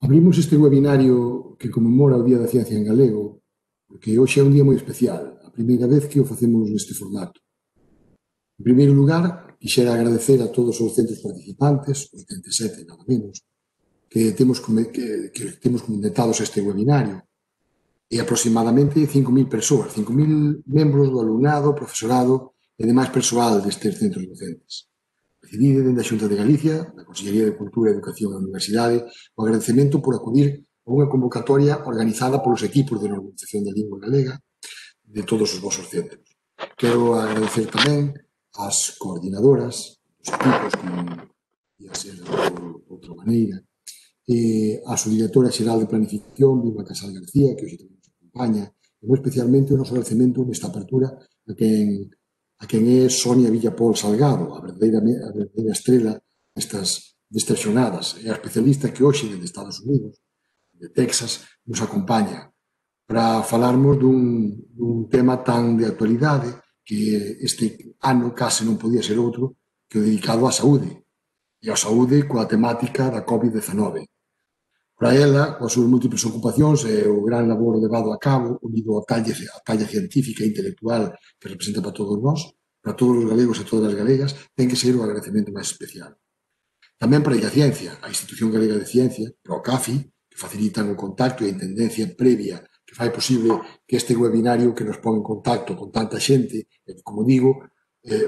Abrimos este webinario que conmemora o Día da Ciencia en Galego, porque hoxe é un día moi especial, a primeira vez que o facemos neste formato. En primeiro lugar, quixera agradecer a todos os centros participantes, 87 nada menos, que temos comentados este webinario, e aproximadamente 5.000 persoas, 5.000 membros do alumnado, profesorado e demais persoal destes centros docentes. Recibide dende a Xunta de Galicia, da Consellería de Cultura, Educación e Universidade, o agradecemento por acudir a unha convocatoria organizada polos equipos de normalización da lingua galega de todos os vosos centros. Quero agradecer tamén ás coordinadoras dos equipos, como ia ser de outra maneira, e a subdirectora xeral de Planificación, Vilma Casal García, que hoxe tamén nos acompaña, e moi especialmente o noso agradecemento nesta apertura a quen é Sonia Villapol Salgado, a verdadeira estrela destas xornadas, é a especialista que hoxe desde Estados Unidos, de Texas, nos acompaña para falarmos dun tema tan de actualidade que este ano case non podía ser outro que o dedicado á saúde, e á saúde coa temática da COVID-19. Para ela, coas súas múltiples ocupacións e o gran labor levado a cabo, unido á talla científica e intelectual que representa para todos nós, para todos os galegos e todas as galegas, ten que ser o agradecemento máis especial. Tamén para a Ciencia, a Institución Galega de Ciencia, para o CAFI, que facilitan o contacto e a intendencia previa que fai posible que este webinario que nos pon en contacto con tanta xente, e que, como digo,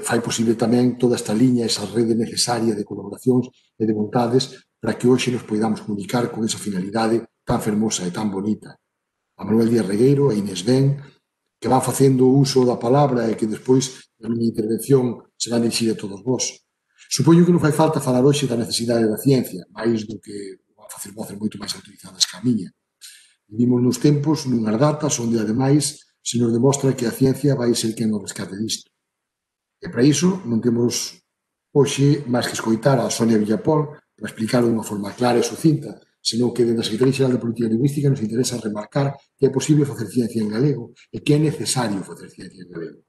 fai posible tamén toda esta liña, esa rede necesaria de colaboracións e de vontades para que hoxe nos poidamos comunicar con esa finalidade tan fermosa e tan bonita. A Manuel Díaz Regueiro, a Inés Ben, que van facendo uso da palabra e que despois na miña intervención se van dirigir a todos vós. Supoño que non fai falta falar hoxe da necesidade da ciencia, máis do que van facer voces moito máis autorizadas que a miña. Vivimos nos tempos, nunhas datas, onde, ademais, se nos demostra que a ciencia vai ser quen nos rescate disto. E para iso non temos hoxe máis que escoitar a Sonia Villapol para explicar de unha forma clara e sucinta, senón que dentro da Secretaría Xeral de Política Lingüística nos interesa remarcar que é posible facer ciencia en galego e que é necesario facer ciencia en galego.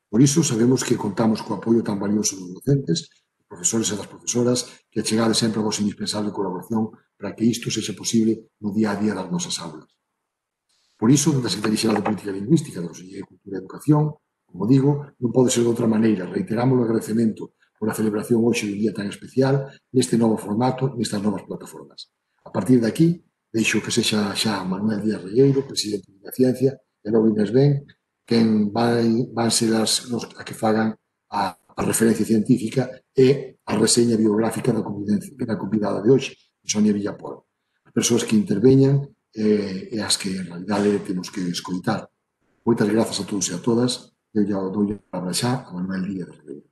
Por iso, sabemos que contamos co apoio tan valioso dos docentes, dos profesores e das profesoras, que achegade sempre a vosa indispensable colaboración para que isto sexa posible no día a día das nosas aulas. Por iso, dentro da Secretaría Xeral de Política Lingüística, da Consellería de Cultura e Educación, como digo, non pode ser de outra maneira. Reiteramos o agradecemento por a celebración hoxe dun día tan especial neste novo formato, nestas novas plataformas. A partir de aquí, deixo que sexa xa Manuel Díaz Regueiro, presidente da Ciencia, e logo Inés Ben, quen van ser a que fagan a referencia científica e a reseña biográfica da convidada de hoxe, Sonia Villapol. As persoas que interveñan e as que en realidade temos que escoitar. Moitas grazas a todos e a todas. Eu já dou a palabra xa a Manuel Díaz Regueiro.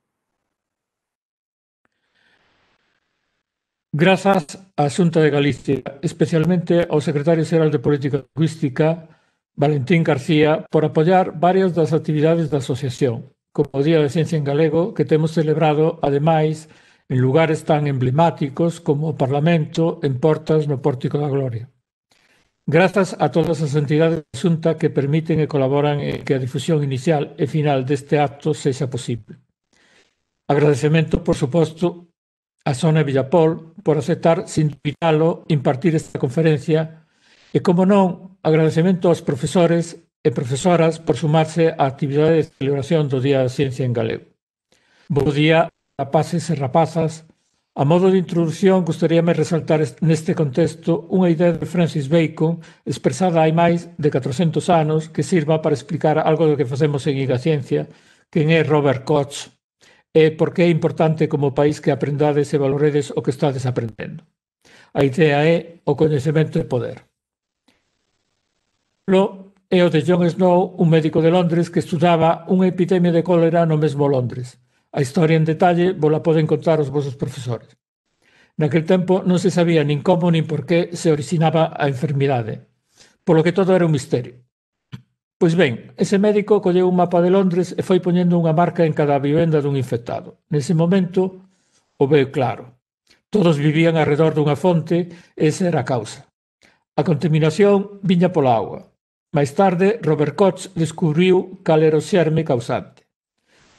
Grazas á Xunta de Galicia, especialmente ao Secretario Xeral de Política Lingüística, Valentín García, por apoiar varias das actividades da asociación, como o Día de Ciencia en Galego, que temos celebrado, ademais, en lugares tan emblemáticos como o Parlamento, en Portas, no Pórtico da Gloria. Grazas a todas as entidades da Xunta que permiten e colaboran en que a difusión inicial e final deste acto sexa posible. Agradecemento, por suposto, a Sonia Villapol por aceptar, sin invitalo, impartir esta conferencia e, como non, agradecemento aos profesores e profesoras por sumarse á actividade de celebración do Día da Ciencia en Galego. Bo día, rapaces e rapazas. A modo de introdución, gustaríame resaltar neste contexto unha idea de Francis Bacon expresada hai máis de 400 anos que sirva para explicar algo do que facemos en a Ciencia, quen é Robert Koch, e por que é importante como país que aprendades e valoredes o que estades aprendendo. A idea é o coñecemento e poder. É o de John Snow, un médico de Londres que estudaba unha epidemia de cólera no mesmo Londres. A historia en detalle vos la poden contar os vosos profesores. Naquel tempo non se sabía nin como nin por que se originaba a enfermidade, polo que todo era un misterio. Pois ben, ese médico colleu un mapa de Londres e foi poñendo unha marca en cada vivenda dun infectado. Nese momento, o veu claro. Todos vivían arredor dunha fonte e esa era a causa. A contaminación viña pola auga. Máis tarde, Robert Koch descubriu cal era o xerme causante.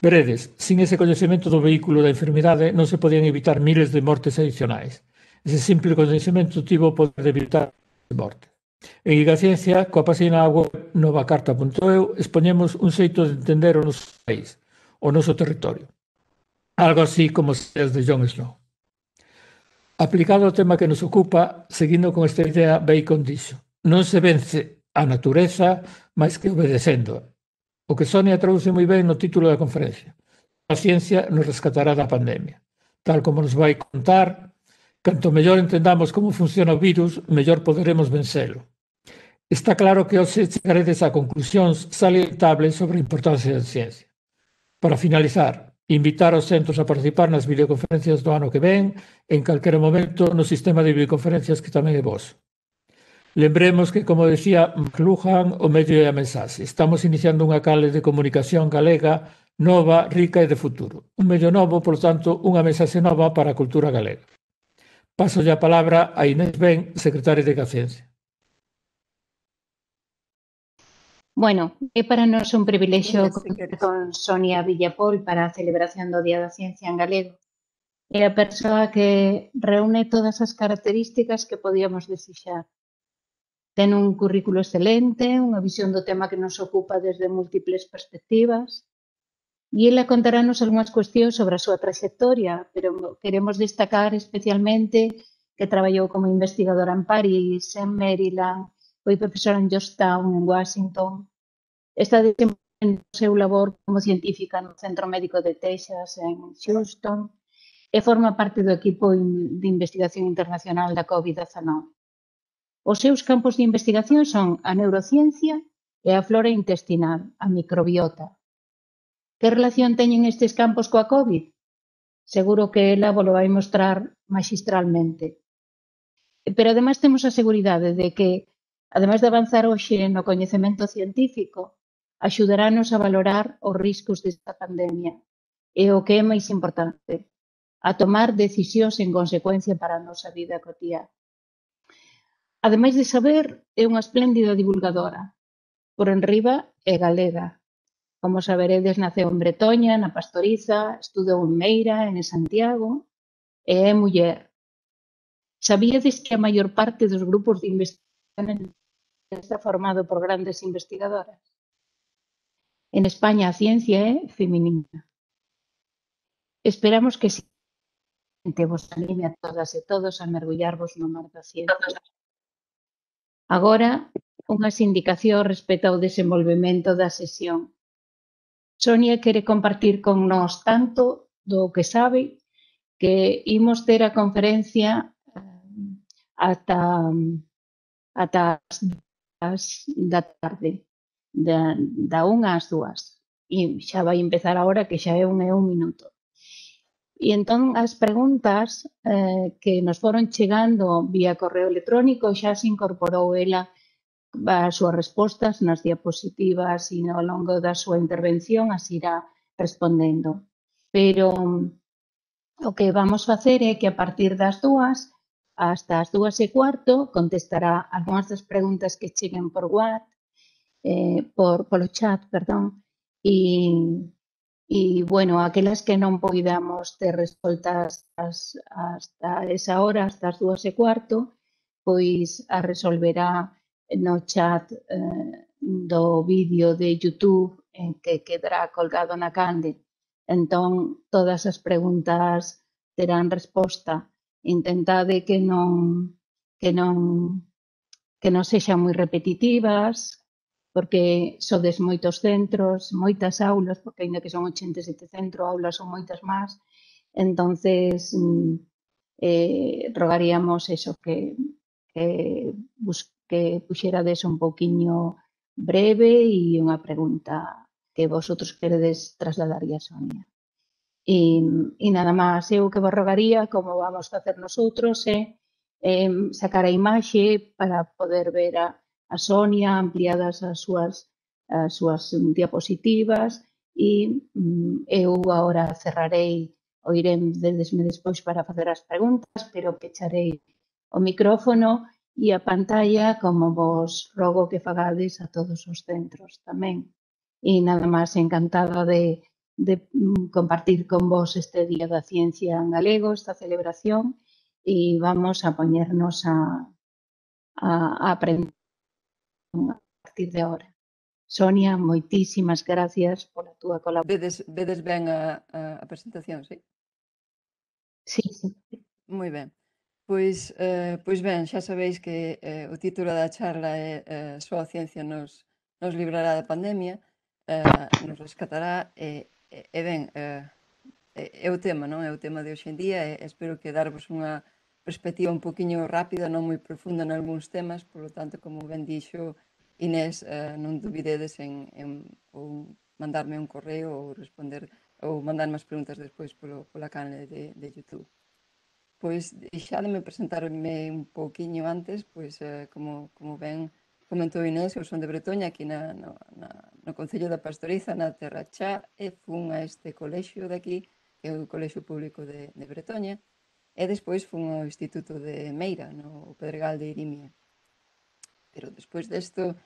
Veredes, sin ese coñecemento do vehículo da enfermidade non se podían evitar miles de mortes adicionais. Ese simple coñecemento tivo o poder de evitar a morte. En Igaciencia, coa página web novacarta.eu, expoñemos un xeito de entender o noso país, o noso territorio. Algo así como os de Jon Snow. Aplicado ao tema que nos ocupa, seguindo con esta idea, Bacon dixo: non se vence a natureza máis que obedecendo. O que Sonia traduce moi ben no título da conferencia. A ciencia nos rescatará da pandemia. Tal como nos vai contar, canto mellor entendamos como funciona o virus, mellor poderemos vencelo. Está claro que hoxe chegaredes a conclusións salientables sobre a importancia da ciencia. Para finalizar, invitar os centros a participar nas videoconferencias do ano que ven, en calquera momento no sistema de videoconferencias que tamén é vos. Lembremos que, como decía McLuhan, o medio é a mensaxe. Estamos iniciando unha canle de comunicación galega nova, rica e de futuro. Un medio novo, por tanto, unha mensaxe nova para a cultura galega. Paso a palabra a Inés Ben, secretaria de Ciencia. Bueno, é para nós un privilexio contar con Sonia Villapol para a celebración do Día da Ciencia en galego. É a persoa que reúne todas as características que podíamos desexar. Ten un currículo excelente, unha visión do tema que nos ocupa desde múltiples perspectivas, e ela contarános algunhas cuestións sobre a súa trayectoria, pero queremos destacar especialmente que traballou como investigadora en París, en Maryland, foi profesora en Georgetown, en Washington. Está desenvolvendo o seu labor como científica no Centro Médico de Texas, en Houston, e forma parte do equipo de investigación internacional da COVID-19. Os seus campos de investigación son a neurociencia e a flora intestinal, a microbiota. Que relación teñen estes campos coa COVID? Seguro que ela vos lo vai mostrar magistralmente. Pero ademais temos a seguridade de que, ademais de avanzar hoxe no coñecemento científico, axudarános a valorar os riscos desta pandemia e o que é máis importante, a tomar decisións en consecuencia para a nosa vida cotiá. Ademais de saber, é unha espléndida divulgadora. Por enriba é galega. Como saberedes, naceu en Bretoña, na Pastoriza, estudou en Meira, en Santiago, e é muller. Sabíades que a maior parte dos grupos de investigación está formado por grandes investigadoras? En España a ciencia é feminina. Esperamos que vos anime a todas e todos a mergullarvos no mar da ciencia. Agora, unhas indicacións respecto ao desenvolvemento da sesión. Sonia quere compartir con nós tanto do que sabe que imos ter a conferencia ata as da tarde, da 1 ás 2. E xa vai empezar agora, que xa é 1 minuto. E entón as preguntas que nos foron chegando vía correo electrónico xa se incorporou ela as súas respostas nas diapositivas e ao longo da súa intervención as irá respondendo. Pero o que vamos facer é que a partir das 2 hasta as 2:15 contestará algunhas das preguntas que cheguen por polo chat, perdón, e, bueno, aquelas que non poidamos ter resoltas hasta esa hora, hasta as 2:15, pois a resolverá no chat do vídeo de YouTube en que quedará colgado na canle. Entón, todas as preguntas terán resposta. Intentade que non sexan moi repetitivas, porque sodes moitos centros, moitas aulas, porque ainda que son 87 centros, aulas son moitas máis. Entonces, rogaríamos eso, que puxerades un pouquiño breve e unha pregunta que vosotros queredes trasladarlle a Sonia. E nada máis, eu que vos rogaría, como vamos facer nosotros, é sacar a imaxe para poder ver a Sonia, ampliadas as súas diapositivas, e eu agora cerrarei, oiredesme despois para facer as preguntas, pero pecharei o micrófono e a pantalla, como vos rogo que fagades a todos os centros tamén. E nada máis, encantada de compartir con vos este Día da Ciencia en galego, esta celebración, y vamos a poñernos a aprender a partir de ahora. Sonia, moitísimas gracias pola túa colaboración. Vedes ben a presentación, sí? Sí, sí. Moi ben. Pois ben, xa sabéis que o título da charla é Só a ciencia nos librará da pandemia, nos rescatará, e ben, é o tema, non? É o tema de hoxe en día e espero que darvos unha perspectiva un poquinho rápida, non moi profunda nalgúns temas, polo tanto, como ben dixo Inés, non dubidedes en ou mandarme un correo ou responder ou mandarme as preguntas despois pola canle de YouTube. Pois deixádeme presentarme un pouquiño antes, pois como ben comentou Inés, eu son de Bretoña, aquí no Concello da Pastoriza, na Terra Chá, e fun a este colexio de aquí, que é o Colexio Público de Bretoña, e despois fun ao Instituto de Meira, no Pedregal de Irimia. Pero despois desto,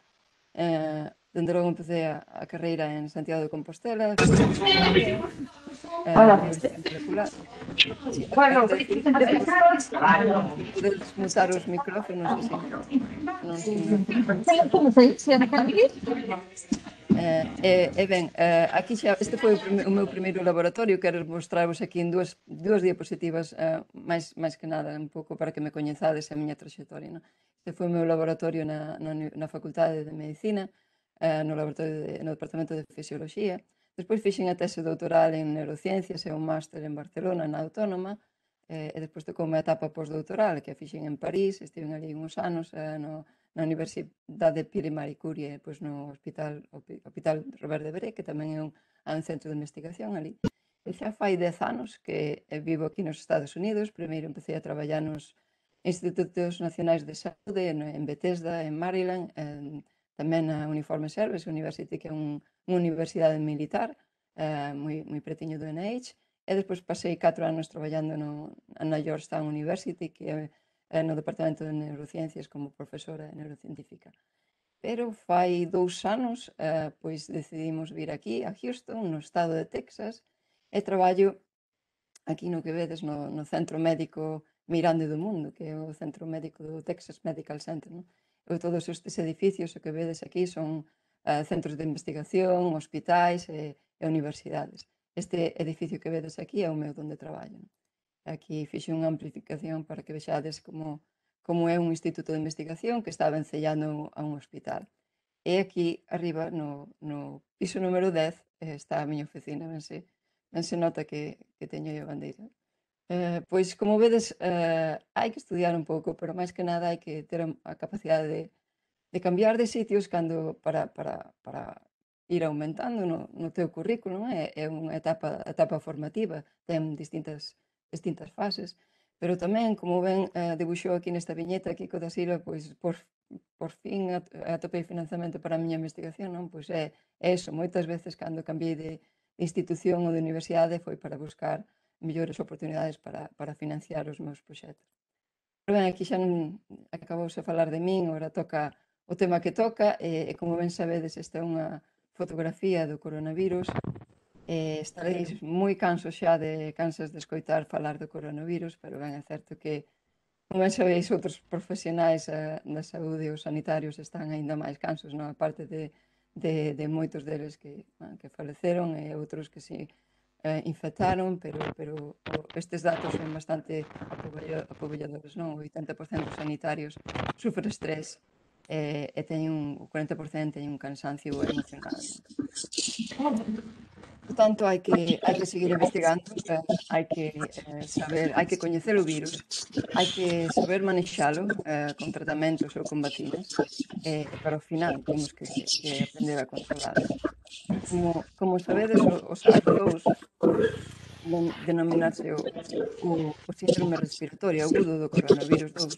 dende logo empecé a carreira en Santiago de Compostela, molecular. Podedes mutar os micrófonos así. Ben, aquí xa, este foi o meu primeiro laboratorio. Quero mostrarvos aquí en dúas diapositivas, máis que nada, un pouco para que me coñezades a miña traxectoria, non? Este foi o meu laboratorio na Facultade de Medicina, no Departamento de Fisioloxía. Despois fixen a tese doutoral en Neurociencias e un máster en Barcelona, na Autónoma, e despois tocou unha etapa postdoutoral que a fixen en París, estiven ali uns anos na Universidade Pierre Marie Curie, pois no Hospital Robert Debré, que tamén é un centro de investigación ali. E xa fai 10 anos que vivo aquí nos Estados Unidos. Primeiro empecé a traballar nos Institutos Nacionais de Saúde, en Bethesda, en Maryland, tamén na Uniforme Service University, que é unha universidade militar, moi pretiño do NIH, e despois pasei 4 anos traballando na Georgetown University, que é no Departamento de Neurociencias como profesora neurocientífica. Pero fai 2 anos, pois decidimos vir aquí, a Houston, no estado de Texas, e traballo aquí no que vedes, no Centro Médico Mirande do Mundo, que é o Centro Médico do Texas Medical Center, non? Todos estes edificios que vedes aquí son centros de investigación, hospitais e universidades. Este edificio que vedes aquí é o meu donde traballo. Aquí fixe unha amplificación para que vexades como é un instituto de investigación que está vencellando a un hospital. E aquí arriba, no piso número 10, está a miña oficina. Ben se nota que teño a bandeira. Pois, como vedes, hai que estudiar un pouco, pero máis que nada hai que ter a capacidade de cambiar de sitios para ir aumentando no teu currículum. É unha etapa formativa, ten distintas fases, pero tamén, como ben debuxou aquí nesta viñeta Kiko da Silva, pois por fin atopei financiamento para a miña investigación, non? Pois é eso, moitas veces cando cambiei de institución ou de universidade foi para buscar mellores oportunidades para financiar os meus proxectos. Pero ben, aquí xa non acabouse a falar de min, agora toca o tema que toca, e como ben sabedes, esta é unha fotografía do coronavirus. Estaréis moi cansas de escoitar falar do coronavirus, pero ben, é certo que, como ben sabeis, outros profesionais da saúde e os sanitarios están aínda máis cansos, non? A parte de moitos deles que faleceron e outros que si infectaron, pero estes datos son bastante apoballadores, non? O 80% dos sanitarios sufre estrés e o 40% teñen un cansancio emocional. Por tanto, hai que seguir investigando, hai que saber, hai que coñecer o virus, hai que saber manexalo con tratamentos ou con vacinas, e para o final temos que aprender a controlar. Como sabedes, o SARS-CoV denominarse o síndrome respiratorio agudo do coronavirus 2,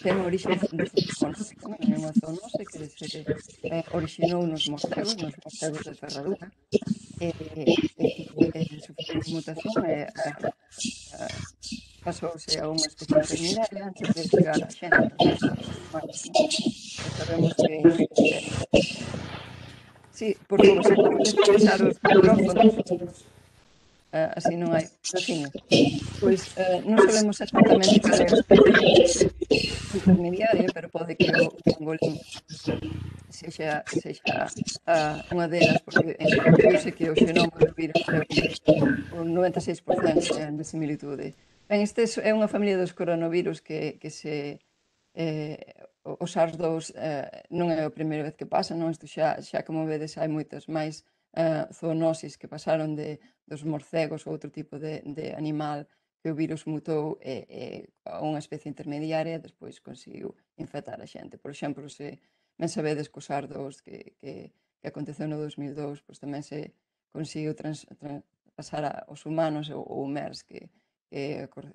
ten orixe zoonótica, non? É unha zoonose que se orixinou nos morcegos de ferradura, e sufriu unha mutación e pasouse a unha especie intermediaria antes de chegar a xente. Sabemos que sí, por favor, se podes baixar os micrófonos. así non hai raciña. Pois non sabemos exactamente cal é a especie intermediaria, pero pode que o pangolín sexa unha delas, porque viuse que o xenoma do virus é un 96% de similitude. Ben, este é unha familia dos coronavirus que se o SARS-2 non é a primeira vez que pasa, non? Isto xa como vedes hai moitas máis zoonosis que pasaron dos morcegos ou outro tipo de animal que o virus mutou a unha especie intermediaria e despois conseguiu infectar a xente. Por exemplo, se ben sabedes que o SARS-2 que aconteceu no 2002, pois tamén se conseguiu pasar aos humanos o MERS que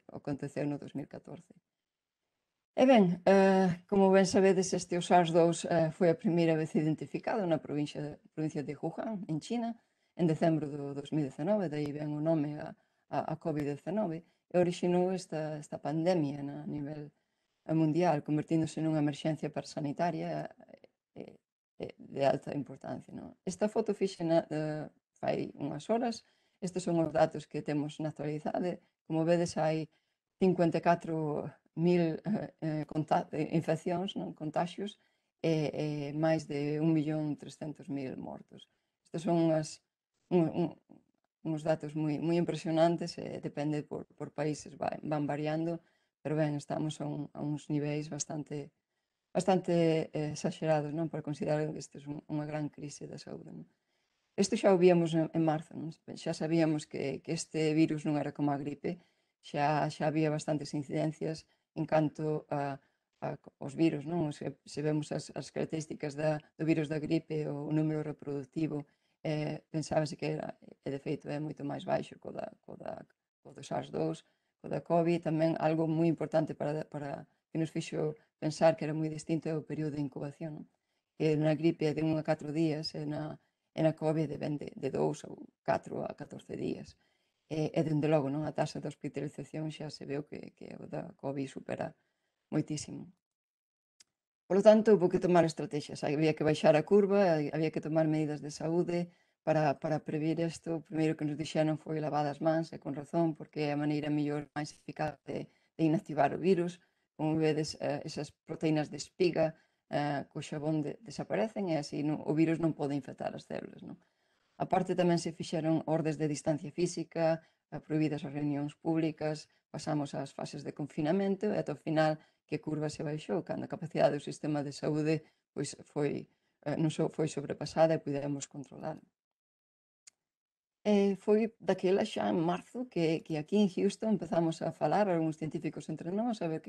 aconteceu no 2014. E ben, como ben sabedes, este o SARS-2 foi a primeira vez identificado na provincia de Wuhan, en China, en decembro do 2019, daí ven o nome a COVID-19, e orixinou esta pandemia a nivel mundial, convertíndose nunha emerxencia sanitaria de alta importancia. Non? Esta foto fixena fai unhas horas, estes son os datos que temos na actualidade, como vedes hai 54.000 infeccións, non? Contaxios, e máis de 1.300.000 mortos. Estes son uns datos moi impresionantes, depende por países, van variando, pero ben, estamos a uns niveis bastante exagerados, non? Para considerar que isto é unha gran crise da saúde. Non? Isto xa o víamos en marzo, non? Xa sabíamos que este virus non era como a gripe, xa había bastantes incidencias en canto aos virus, non? Se vemos as características do virus da gripe, o número reproductivo, pensábase que era, e de feito é moito máis baixo co do SARS-2, co da COVID, tamén algo moi importante para que nos fixo pensar que era moi distinto é o período de incubación, non? Que na gripe é de 1 a 4 días, e na COVID ven de 2 ou 4 a 14 días. E dende logo, non? A taxa de hospitalización xa se veu que o da COVID supera moitísimo. Por lo tanto, houve que tomar estrategias. Había que baixar a curva, había que tomar medidas de saúde para previr isto. O primeiro que nos dixeron foi lavar as mans, e con razón, porque é a maneira mellor, máis eficaz de inactivar o virus. Como vedes, esas proteínas de espiga co xabón desaparecen, e así o virus non pode infectar as células. Non? A parte tamén se fixeron ordes de distancia física, prohibidas as reunións públicas, pasamos ás fases de confinamento e ata o final que a curva se baixou, cando a capacidade do sistema de saúde pois non só foi sobrepasada e pudemos controlar. Foi daquela xa en marzo que aquí en Houston empezamos a falar algúns científicos entre nós a ver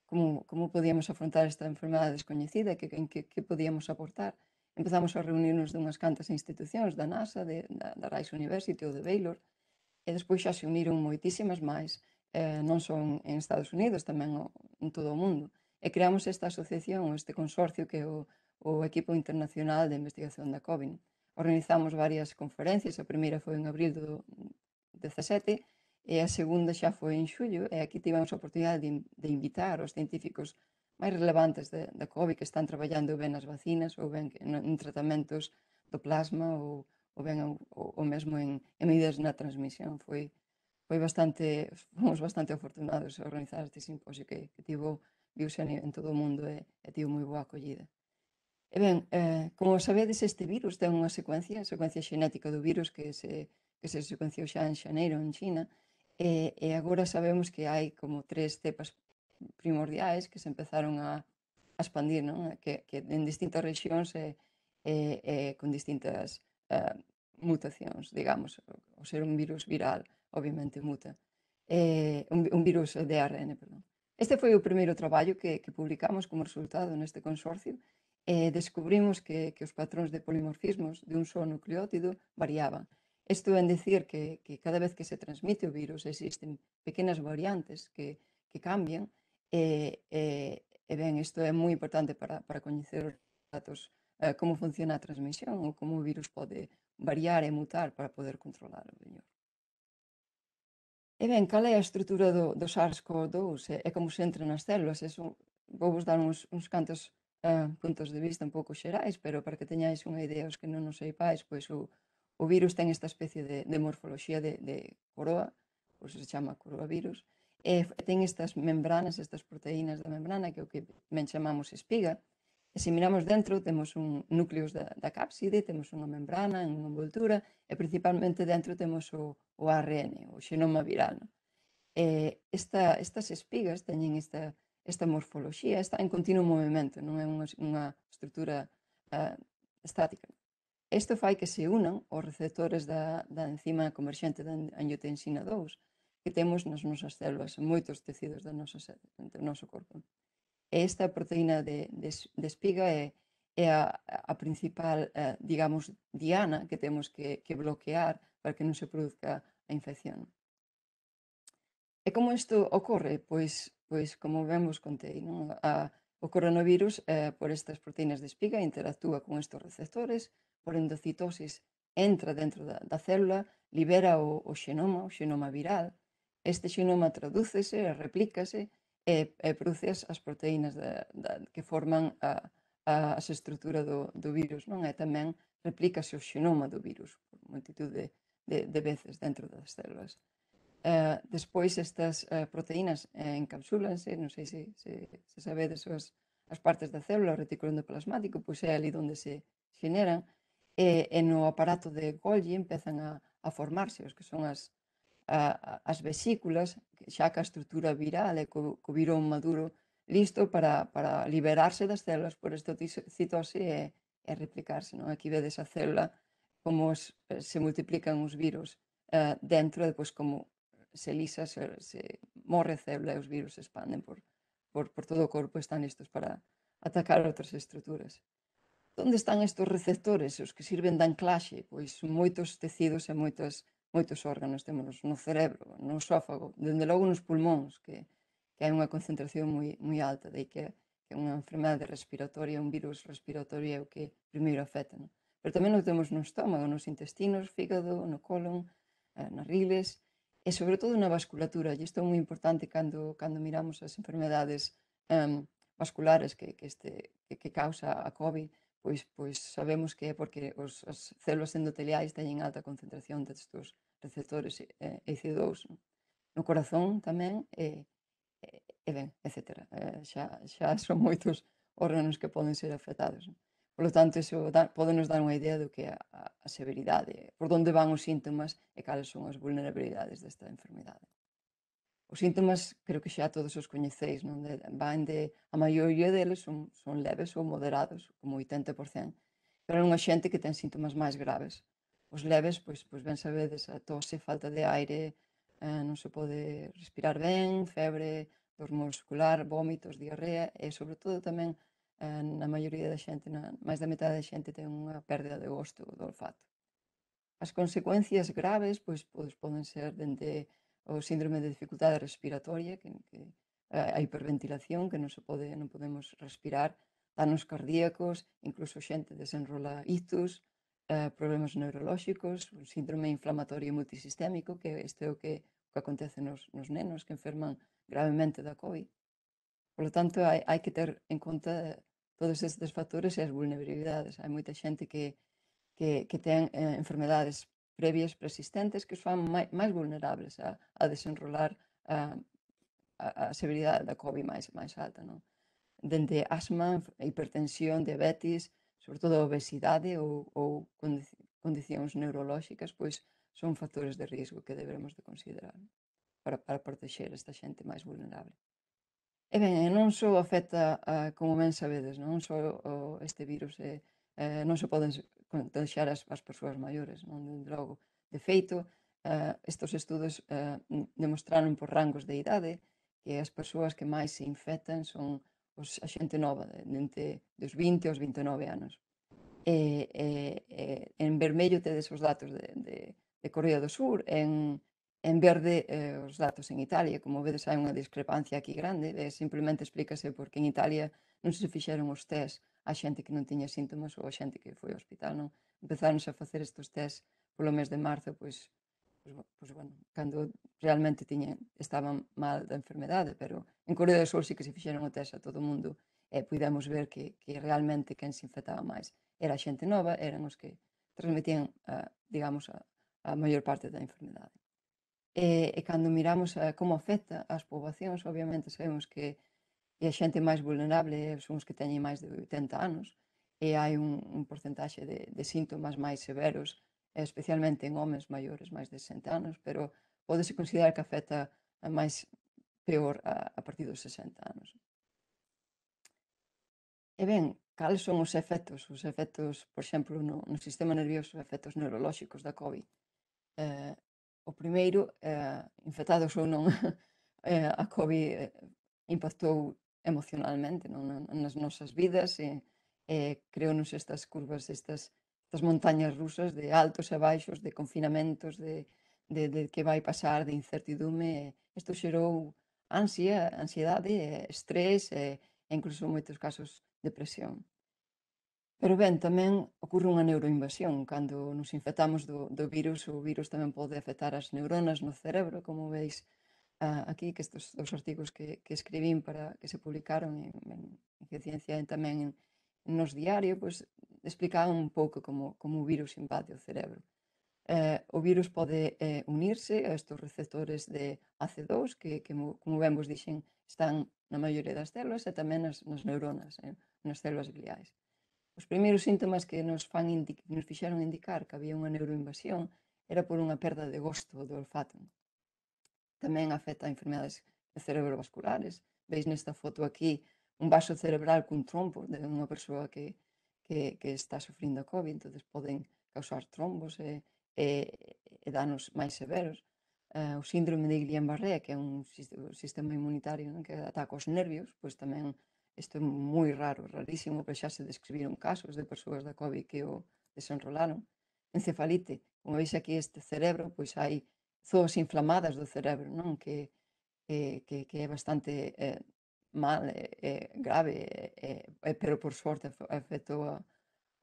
como podíamos afrontar esta enfermedade descoñecida e que podíamos aportar. Empezamos a reunirnos dunhas cantas institucións da NASA, da Rice University ou de Baylor, e despois xa se uniron moitísimas máis, non só en Estados Unidos, tamén en todo o mundo. E creamos esta asociación, este consorcio que é o Equipo Internacional de Investigación da COVID. Organizamos varias conferencias, a primeira foi en abril do 17, e a segunda xa foi en xullo, e aquí tivemos a oportunidade de invitar os científicos máis relevantes da COVID que están traballando ben nas vacinas ou ben en tratamentos do plasma ou ben ou mesmo en medidas na transmisión. Fomos bastante afortunados a organizar este simposio que viuse en todo o mundo e tivo moi boa acollida. E ben, como sabedes, este virus ten unha secuencia xenética do virus que se secuenciou xa en xaneiro en China, e agora sabemos que hai como 3 cepas primordiais que se empezaron a expandir, non? Que en distintas rexións e con distintas mutacións, digamos. O ser un virus viral, obviamente, muta. Un virus de ARN, perdón. Este foi o primeiro traballo que publicamos como resultado neste consorcio, e descubrimos que os patróns de polimorfismos de un só nucleótido variaban. Isto é dicir que cada vez que se transmite o virus existen pequenas variantes que cambian, e ben, isto é moi importante para coñecer os datos, como funciona a transmisión ou como o virus pode variar e mutar para poder controlar o mellor. E ben, cal é a estrutura do SARS-CoV-2 e como se entra nas células? Vou vos dar uns cantos puntos de vista un pouco xerais, pero para que teñáis unha idea os que non nos seipais, pois o O virus ten esta especie de morfoloxía de coroa, por se chama coroavirus, e ten estas membranas, estas proteínas da membrana, que é o que ben chamamos espiga, e se miramos dentro, temos un núcleos da cápside, temos unha membrana, unha envoltura, e principalmente dentro temos o ARN, o xenoma viral. Estas espigas teñen esta morfoloxía, está en continuo movimento, non é unha estrutura estática. Isto fai que se unan os receptores da enzima converxente da angiotensina 2 que temos nas nosas células, en moitos tecidos do noso corpo. E esta proteína de espiga é a principal, digamos, diana que temos que bloquear para que non se produzca a infección. E como isto ocorre? Pois como ben vos contei, non? O coronavirus, por estas proteínas de espiga, interactúa con estes receptores, por endocitosis entra dentro da célula, libera o xenoma viral, este xenoma tradúcese, replícase e produce as proteínas que forman as estruturas do virus, non? E tamén replícase o xenoma do virus por multitud de veces dentro das células. Despois estas proteínas encapsúlanse, non sei se sabedes as partes da célula, o retículo endoplasmático, pois é ali onde se generan, e no aparato de Golgi empezan a formarse os que son as vesículas, xa que a estrutura viral e co virón maduro listo para liberarse das células por estocitose e replicarse. Aquí vedes a célula como se multiplican os virus dentro, e depois como se lisa, se morre a célula e os virus se expanden por todo o corpo, están listos para atacar outras estruturas. Onde están estes receptores, os que sirven de anclaxe? Pois moitos tecidos e moitos órganos. Temos no cerebro, no esófago, dende logo nos pulmóns, que hai unha concentración moi alta, de que é unha enfermedade respiratoria, un virus respiratorio é o que primeiro afecta. Pero tamén o temos no estómago, nos intestinos, fígado, no colon, nas riles, e sobre todo na vasculatura. E isto é moi importante cando miramos as enfermedades vasculares que causa a COVID, pois sabemos que é porque as células endoteliais teñen alta concentración destes receptores EC2. No corazón tamén, ben, etc. Xa son moitos órganos que poden ser afectados. Por lo tanto, iso podenos dar unha idea do que é a severidade, por onde van os síntomas e cales son as vulnerabilidades desta enfermedade. Os síntomas, creo que xa todos os coñeceis, non? A maioría deles son leves ou moderados, como 80%, pero hai unha xente que ten síntomas máis graves. Os leves, pois ben sabedes, a tose, falta de aire, non se pode respirar ben, febre, dor muscular, vómitos, diarrea, e sobre todo tamén na maioría da xente, máis da metade da xente ten unha pérdida de gosto do olfato. As consecuencias graves pois poden ser dende o síndrome de dificultade respiratoria, que a hiperventilación, que non podemos respirar, danos cardíacos, incluso xente desenrola ictus, problemas neurolóxicos, o síndrome inflamatorio multisistémico, que este é o que acontece nos nenos que enferman gravemente da COVID. Por lo tanto, hai que ter en conta todos estes factores e as vulnerabilidades. Hai moita xente que ten enfermedades previas persistentes que os fan máis vulnerables a desenrolar a severidade da COVID máis alta. Dende asma, hipertensión, diabetes, sobre todo a obesidade ou condicións neurolóxicas, pois son factores de risco que debemos de considerar para protexer esta xente máis vulnerable. E ben, non só afecta, como ben sabedes, non só este virus non se poden contagiar as persoas maiores, non? Dende logo. De feito, estes estudos demostraron por rangos de idade que as persoas que máis se infectan son a xente nova, dos 20 aos 29 anos. En vermello tedes os datos de Corea do Sur, en verde os datos en Italia. Como vedes, hai unha discrepancia aquí grande, simplemente explícase porque en Italia non se fixeron os test a xente que non tiña síntomas ou a xente que foi ao hospital, non? Empezáronse a facer estes test polo mes de marzo, pois bueno, cando realmente estaban mal da enfermedade, pero en Corea do Sur sí que se fixeron o test a todo o mundo e pudemos ver que realmente quen se infectaba máis era a xente nova, eran os que transmitían, digamos, a maior parte da enfermedade. E cando miramos como afecta as poboacións, obviamente sabemos que a xente máis vulnerable son os que teñen máis de 80 anos, e hai un porcentaxe de síntomas máis severos, especialmente en homes maiores, máis de 60 anos, pero pódese considerar que afecta máis peor a partir dos 60 anos. E ben, cales son os efectos? Os efectos, por exemplo, no sistema nervioso, efectos neurolóxicos da COVID. O primeiro, infectados ou non, a COVID impactou emocionalmente nas nosas vidas e creounos estas curvas, estas montañas rusas de altos e baixos, de confinamentos, de que vai pasar, de incertidume. Isto xerou ansiedade, estrés e incluso en moitos casos depresión. Pero ben, tamén ocorre unha neuroinvasión. Cando nos infectamos do virus, o virus tamén pode afectar as neuronas no cerebro, como veis aquí, que estes dos artigos que escribín para que se publicaron en Ciencia e tamén nos Diario, pois explicaban un pouco como o virus invade o cerebro. O virus pode unirse a estes receptores de AC2, que como ben vos dixen, están na maioría das células e tamén nas neuronas, nas células gliais. Os primeiros síntomas que nos fixeron indicar que había unha neuroinvasión era por unha perda de gosto do olfato. Tamén afecta a enfermedades cerebrovasculares. Veis nesta foto aquí un vaso cerebral cun trombo de unha persoa que está sufrindo a COVID, entón poden causar trombos e danos máis severos. O síndrome de Guillain-Barré, que é un sistema inmunitario que ataca os nervios, pois tamén isto é moi raro, rarísimo, pero xa se describiron casos de persoas da COVID que o desenrolaron. Encefalite, como veis aquí este cerebro, pois hai zoas inflamadas do cerebro, non? Que é bastante mal, grave, pero por sorte afectou a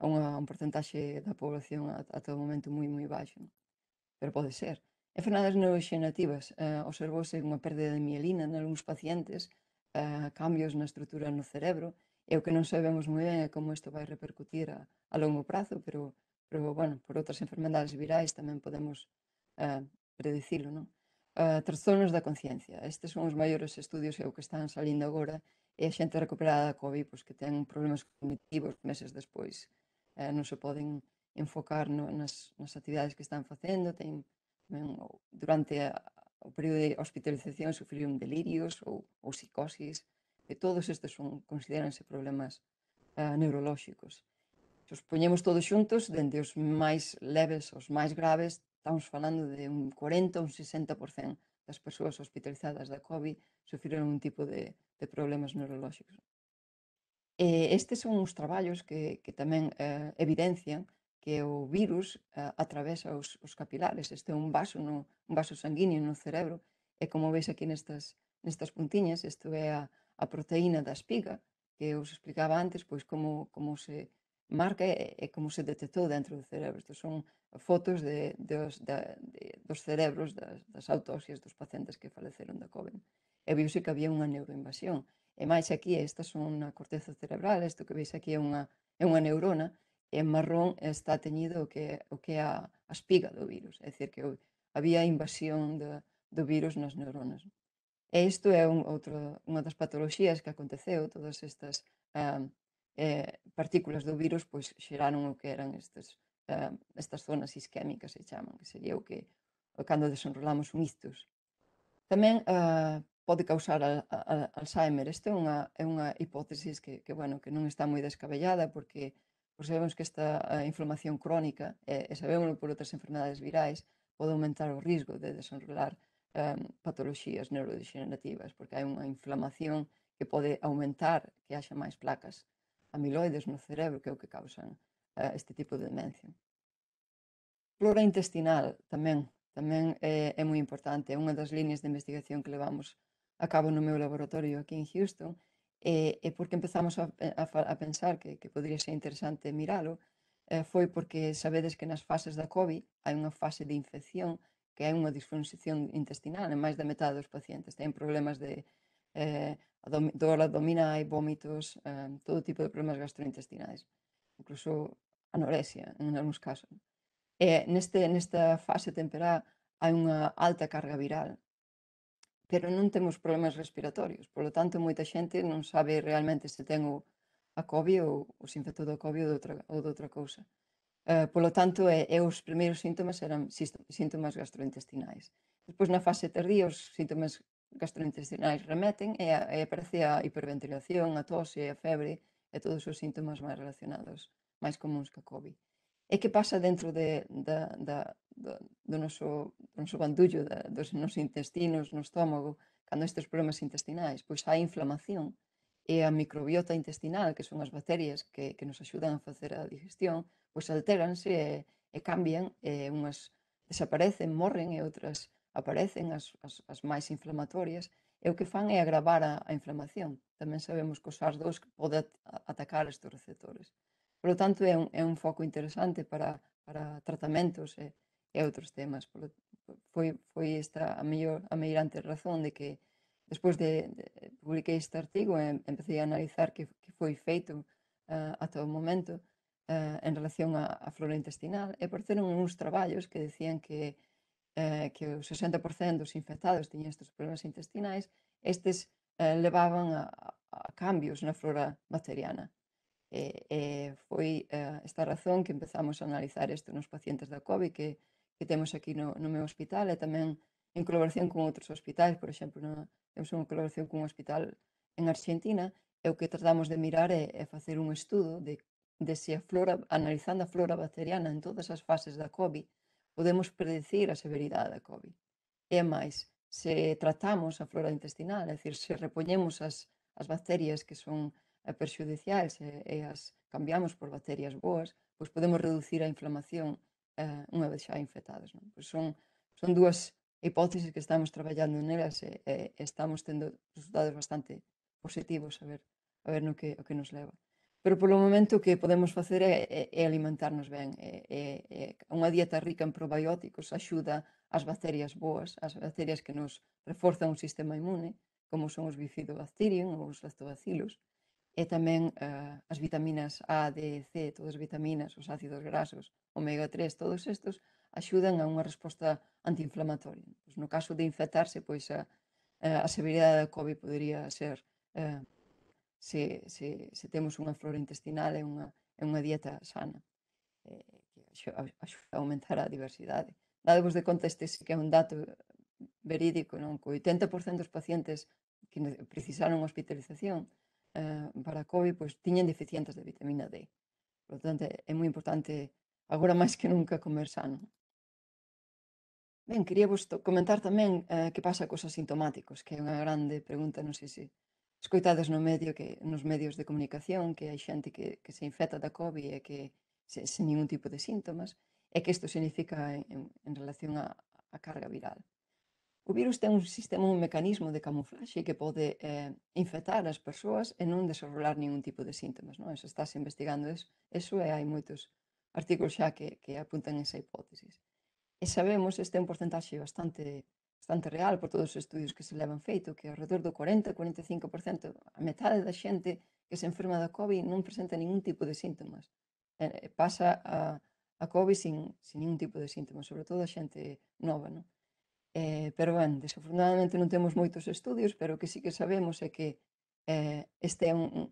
un porcentaxe da población ata o momento moi baixo, pero pode ser. Enfermedades neuroxenerativas, observouse unha perda de mielina nalgúns pacientes, cambios na estrutura no cerebro, e o que non sabemos moi ben é como isto vai repercutir a longo prazo, pero bueno, por outras enfermedades virais tamén podemos predicilo, non? Trastornos da conciencia. Estes son os maiores estudios e o que están salindo agora, e a xente recuperada da COVID, pois que ten problemas cognitivos meses despois. Non se poden enfocar nas actividades que están facendo, durante o período de hospitalización sufriron delirios ou psicosis, e todos estes consideranse problemas neurolóxicos. Se os poñemos todos xuntos, dende os máis leves aos máis graves, estamos falando de un 40 ou un 60% das persoas hospitalizadas da COVID sufriron un tipo de problemas neurolóxicos. Estes son os traballos que tamén evidencian que o virus atravesa os capilares. Este é un vaso sanguíneo no cerebro, e como veis aquí nestas puntiñas, isto é a proteína da espiga, que os explicaba antes, pois como se marca e como se detectou dentro do cerebro. Estos son fotos dos cerebros das autopsias dos pacientes que faleceron da COVID. E viuse que había unha neuroinvasión. E máis aquí, estas son na corteza cerebral, isto que veis aquí é unha neurona, e en marrón está teñido o que é a espiga do virus, é dicir, que había invasión do virus nas neuronas. E isto é unha das patoloxías que aconteceu, todas estas partículas do virus pois xeraron o que eran estas zonas isquémicas, se chaman, que sería o que cando desenrolamos un ictus. Tamén pode causar Alzheimer. Esta é unha hipótesis que non está moi descabellada, porque sabemos que esta inflamación crónica, e sabémoslo por outras enfermedades virais, pode aumentar o risco de desenrolar patoloxías neurodegenerativas, porque hai unha inflamación que pode aumentar que haxa máis placas amiloides no cerebro, que é o que causan este tipo de demencia. Flora intestinal tamén é moi importante. É unha das líneas de investigación que levamos a cabo no meu laboratorio aquí en Houston, e porque empezamos a pensar que podría ser interesante miralo, foi porque sabedes que nas fases da COVID hai unha fase de infección que é unha disfunción intestinal en máis da metade dos pacientes. Ten problemas de dor abdominal, vómitos, todo tipo de problemas gastrointestinais. Incluso anorexia en algúns casos. E nesta fase temperá hai unha alta carga viral, pero non temos problemas respiratorios, polo tanto moita xente non sabe realmente se ten a COVID ou se infectou do COVID ou de outra cousa. Polo tanto, os primeiros síntomas eran síntomas gastrointestinais. Despois, na fase tardía, os síntomas gastrointestinais remeten e aparece a hiperventilación, a tose, a febre e todos os síntomas máis relacionados, máis comuns que a COVID. E que pasa dentro do noso bandullo, dos nosos intestinos, no estómago, cando estes problemas intestinais? Pois hai inflamación e a microbiota intestinal, que son as bacterias que nos axudan a facer a digestión, pois altéranse e cambian, unhas desaparecen, morren e outras aparecen, as máis inflamatorias, e o que fan é agravar a inflamación. Tamén sabemos que o SARS-2 pode atacar estes receptores. Por lo tanto, é un foco interesante para tratamentos e outros temas. Foi esta a meirante razón de que despois de publiquei este artigo e empecé a analizar que foi feito ata o momento en relación á flora intestinal e apareceron uns traballos que decían que o 60% dos infectados tiñan estes problemas intestinais, estes levaban a cambios na flora bacteriana. Foi esta razón que empezamos a analizar isto nos pacientes da COVID que temos aquí no meu hospital e tamén en colaboración con outros hospitais, por exemplo, temos unha colaboración cun hospital en Argentina e o que tratamos de mirar é facer un estudo de se analizando a flora bacteriana en todas as fases da COVID, podemos predecir a severidade da COVID. E máis, se tratamos a flora intestinal, é dicir, se repoñemos as bacterias que son perxudiciais e as cambiamos por bacterias boas, pois podemos reducir a inflamación unha vez xa infectados. Pois son dúas hipótesis que estamos traballando nelas e estamos tendo resultados bastante positivos a ver o que nos leva. Pero polo momento o que podemos facer é alimentarnos ben. Unha dieta rica en probióticos axuda as bacterias boas, as bacterias que nos reforzan o sistema inmune, como son os bifidobacterium ou os lactobacillus, e tamén as vitaminas A, D, C, todas as vitaminas, os ácidos grasos, omega 3, todos estes axudan a unha resposta antiinflamatoria. Pois no caso de infectarse, pois a severidade da COVID podería ser se temos unha flora intestinal e unha dieta sana, que axuda a aumentar a diversidade. Dadevos de conta, este sí que é un dato verídico, non? Que o 80% dos pacientes que precisaron hospitalización para COVID, pois tiñen deficiencias de vitamina D. Por lo tanto, é moi importante, agora máis que nunca, comer sano. Ben, quería vos comentar tamén que pasa cos asintomáticos, que é unha grande pregunta, non sei se escoitades nos medios de comunicación, que hai xente que se infecta da COVID e que sen ningún tipo de síntomas, e que isto significa en relación á carga viral. O virus ten un mecanismo de camuflaxe que pode infectar as persoas e non desenrolar ningún tipo de síntomas. Non? Eso estáse investigando eso e hai moitos artigos xa que apuntan esa hipótesis. E sabemos, este é un porcentaxe bastante real por todos os estudios que se levan feito, que alrededor do 40-45%, a metade da xente que se enferma da COVID non presenta ningún tipo de síntomas. Pasa a COVID sin ningún tipo de síntomas, sobre todo a xente nova, non? Pero, ben, desafortunadamente non temos moitos estudios, pero o que sí que sabemos é que este é un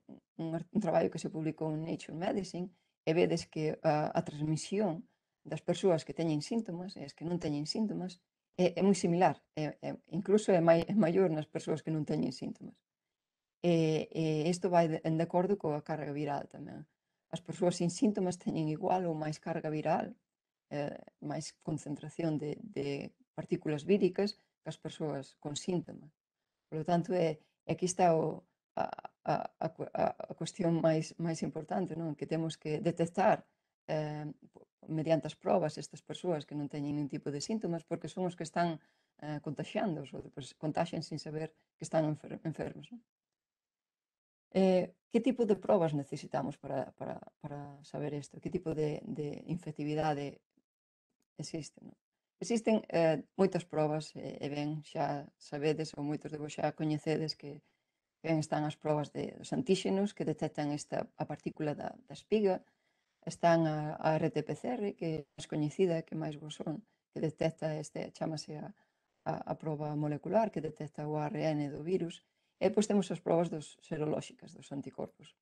traballo que se publicou en Nature Medicine e vedes que a transmisión das persoas que teñen síntomas e as que non teñen síntomas é moi similar, incluso é maior nas persoas que non teñen síntomas. Isto vai de acordo coa carga viral tamén. As persoas sin síntomas teñen igual ou máis carga viral, máis concentración de partículas víricas que as persoas con síntomas. Por lo tanto, aquí está a cuestión máis importante, non? Que temos que detectar mediante as probas estas persoas que non teñen ningún tipo de síntomas porque son os que están contaxiando, ou contaxian sin saber que están enfermos. Non? Que tipo de probas necesitamos para saber isto? Que tipo de infectividade existe? Non? Existen moitas probas e ben xa sabedes ou moitos de vos xa coñecedes que ben están as probas dos antíxenos que detectan a partícula da espiga, están a RT-PCR, que é máis coñecida, que máis vos son, que detecta chamase a proba molecular, que detecta o ARN do virus, e depois temos as probas serolóxicas dos anticorpos.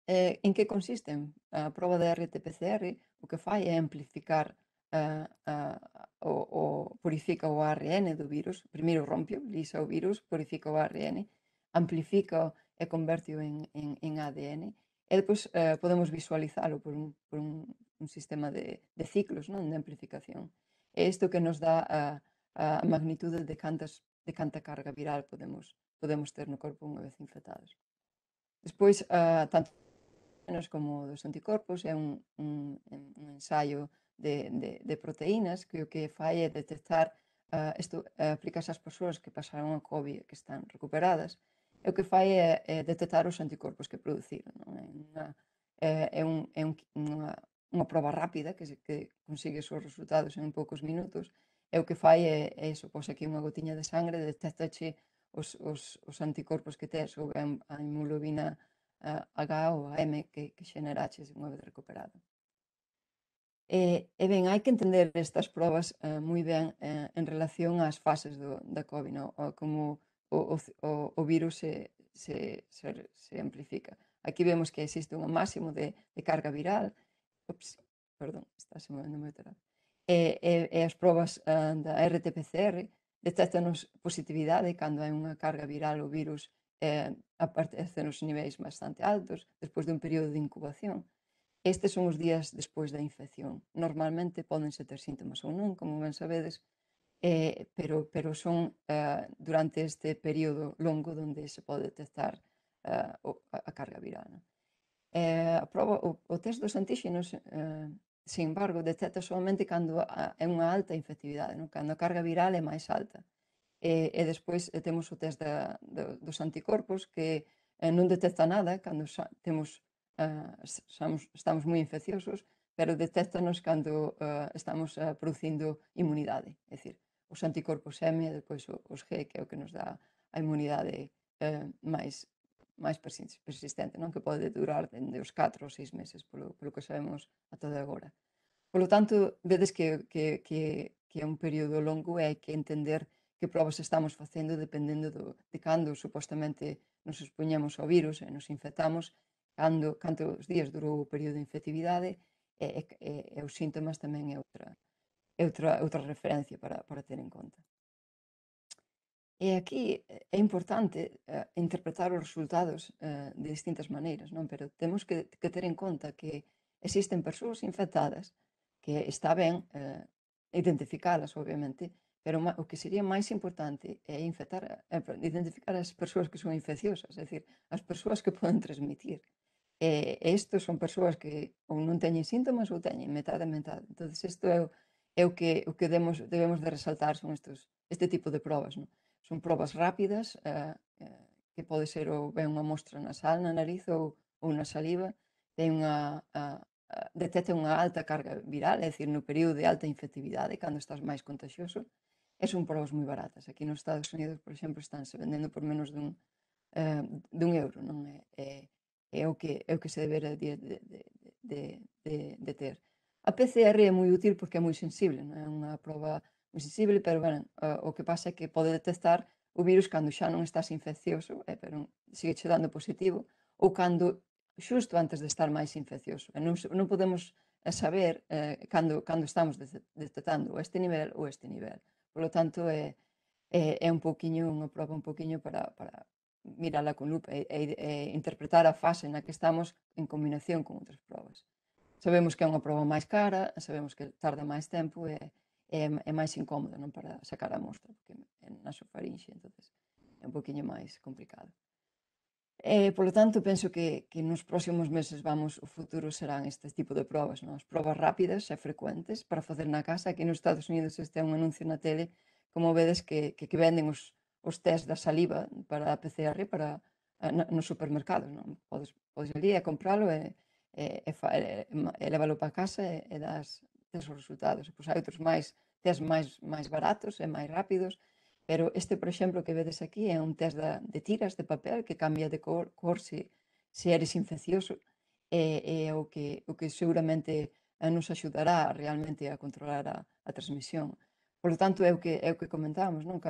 En que consisten? A proba de RT-PCR o que fai é amplificar purifica o ARN do virus, primeiro rompe, lisa o virus, purifica o ARN, amplifica e converte en ADN, e depois podemos visualizalo por un sistema de ciclos, non, de amplificación. É isto que nos dá a magnitude de canta carga viral podemos ter no corpo unha vez infectados. Despois, tanto como dos anticorpos, é un ensaio de proteínas que o que fai é detectar, isto aplícase ás persoas que pasaron a COVID que están recuperadas, e o que fai é detectar os anticorpos que produciron. É unha proba rápida que consigue os resultados en poucos minutos, e o que fai é iso, pos aquí unha gotiña de sangre, detectache os anticorpos que tes, ou ben a hemoglobina H ou a M que xeneraches unha vez recuperado. E ben, hai que entender estas probas moi ben en relación ás fases da COVID, como o virus se amplifica. Aquí vemos que existe un máximo de carga viral. Perdón, está se movendo moi atrás. E as probas da RT-PCR detectanos positividade cando hai unha carga viral o virus aparece nos niveis bastante altos despois dun período de incubación. Estes son os días despois da infección. Normalmente pódense ter síntomas ou non, como ben sabedes, pero son durante este período longo onde se pode detectar a carga viral. O test dos antíxenos, sin embargo, detecta solamente cando é unha alta infectividade, cando a carga viral é máis alta. E despois temos o test dos anticorpos que non detecta nada cando estamos moi infecciosos, pero detectanos cando estamos producindo inmunidade, é dicir, os anticorpos M e depois os G, que é o que nos dá a inmunidade máis persistente, non, que pode durar dende os 4 ou 6 meses, polo que sabemos ata de agora. Polo tanto, vedes que é un período longo e hai que entender que probas estamos facendo dependendo de cando supostamente nos expoñemos ao virus e nos infectamos, cantos días durou o período de infectividade e os síntomas tamén é outra referencia para ter en conta. E aquí é importante interpretar os resultados de distintas maneiras, non? Pero temos que ter en conta que existen persoas infectadas que está ben identificalas, obviamente, pero o que sería máis importante é identificar as persoas que son infecciosas, é dicir, as persoas que poden transmitir. E isto son persoas que ou non teñen síntomas ou teñen metade. Entón, isto é o que debemos de resaltar, son este tipo de probas, non? Son probas rápidas, que pode ser ou ben unha mostra nasal na nariz ou na saliva, detecta unha alta carga viral, é dicir, no período de alta infectividade, cando estás máis contagioso, e son probas moi baratas. Aquí nos Estados Unidos, por exemplo, estánse vendendo por menos dun euro, non? É o que se debera de ter. A PCR é moi útil porque é moi sensible, non é unha proba moi sensible, pero ben, o que pasa é que pode detectar o virus cando xa non estás infeccioso, pero sigue che dando positivo, ou cando xusto antes de estar máis infeccioso. E non podemos saber cando estamos detectando este nivel ou este nivel. Por lo tanto, é unha proba un poquinho para mirala con lupa e interpretar a fase na que estamos en combinación con outras probas. Sabemos que é unha proba máis cara, sabemos que tarda máis tempo e é máis incómodo, non, para sacar a mostra, porque é nasofarinxe, entonces é un poquinho máis complicado. Polo tanto, penso que nos próximos meses o futuro serán este tipo de probas, non? As probas rápidas e frecuentes para facer na casa. Aquí nos Estados Unidos este é un anuncio na tele, como vedes que venden os test da saliva para a PCR nos supermercados, non? Podes ali e compralo e lévalo para casa e tes os resultados. Pois hai outros test máis baratos e máis rápidos, pero este, por exemplo, que vedes aquí é un test de tiras de papel que cambia de cor se eres infeccioso é o que seguramente nos axudará realmente a controlar a transmisión. Por lo tanto, é o que comentábamos, non?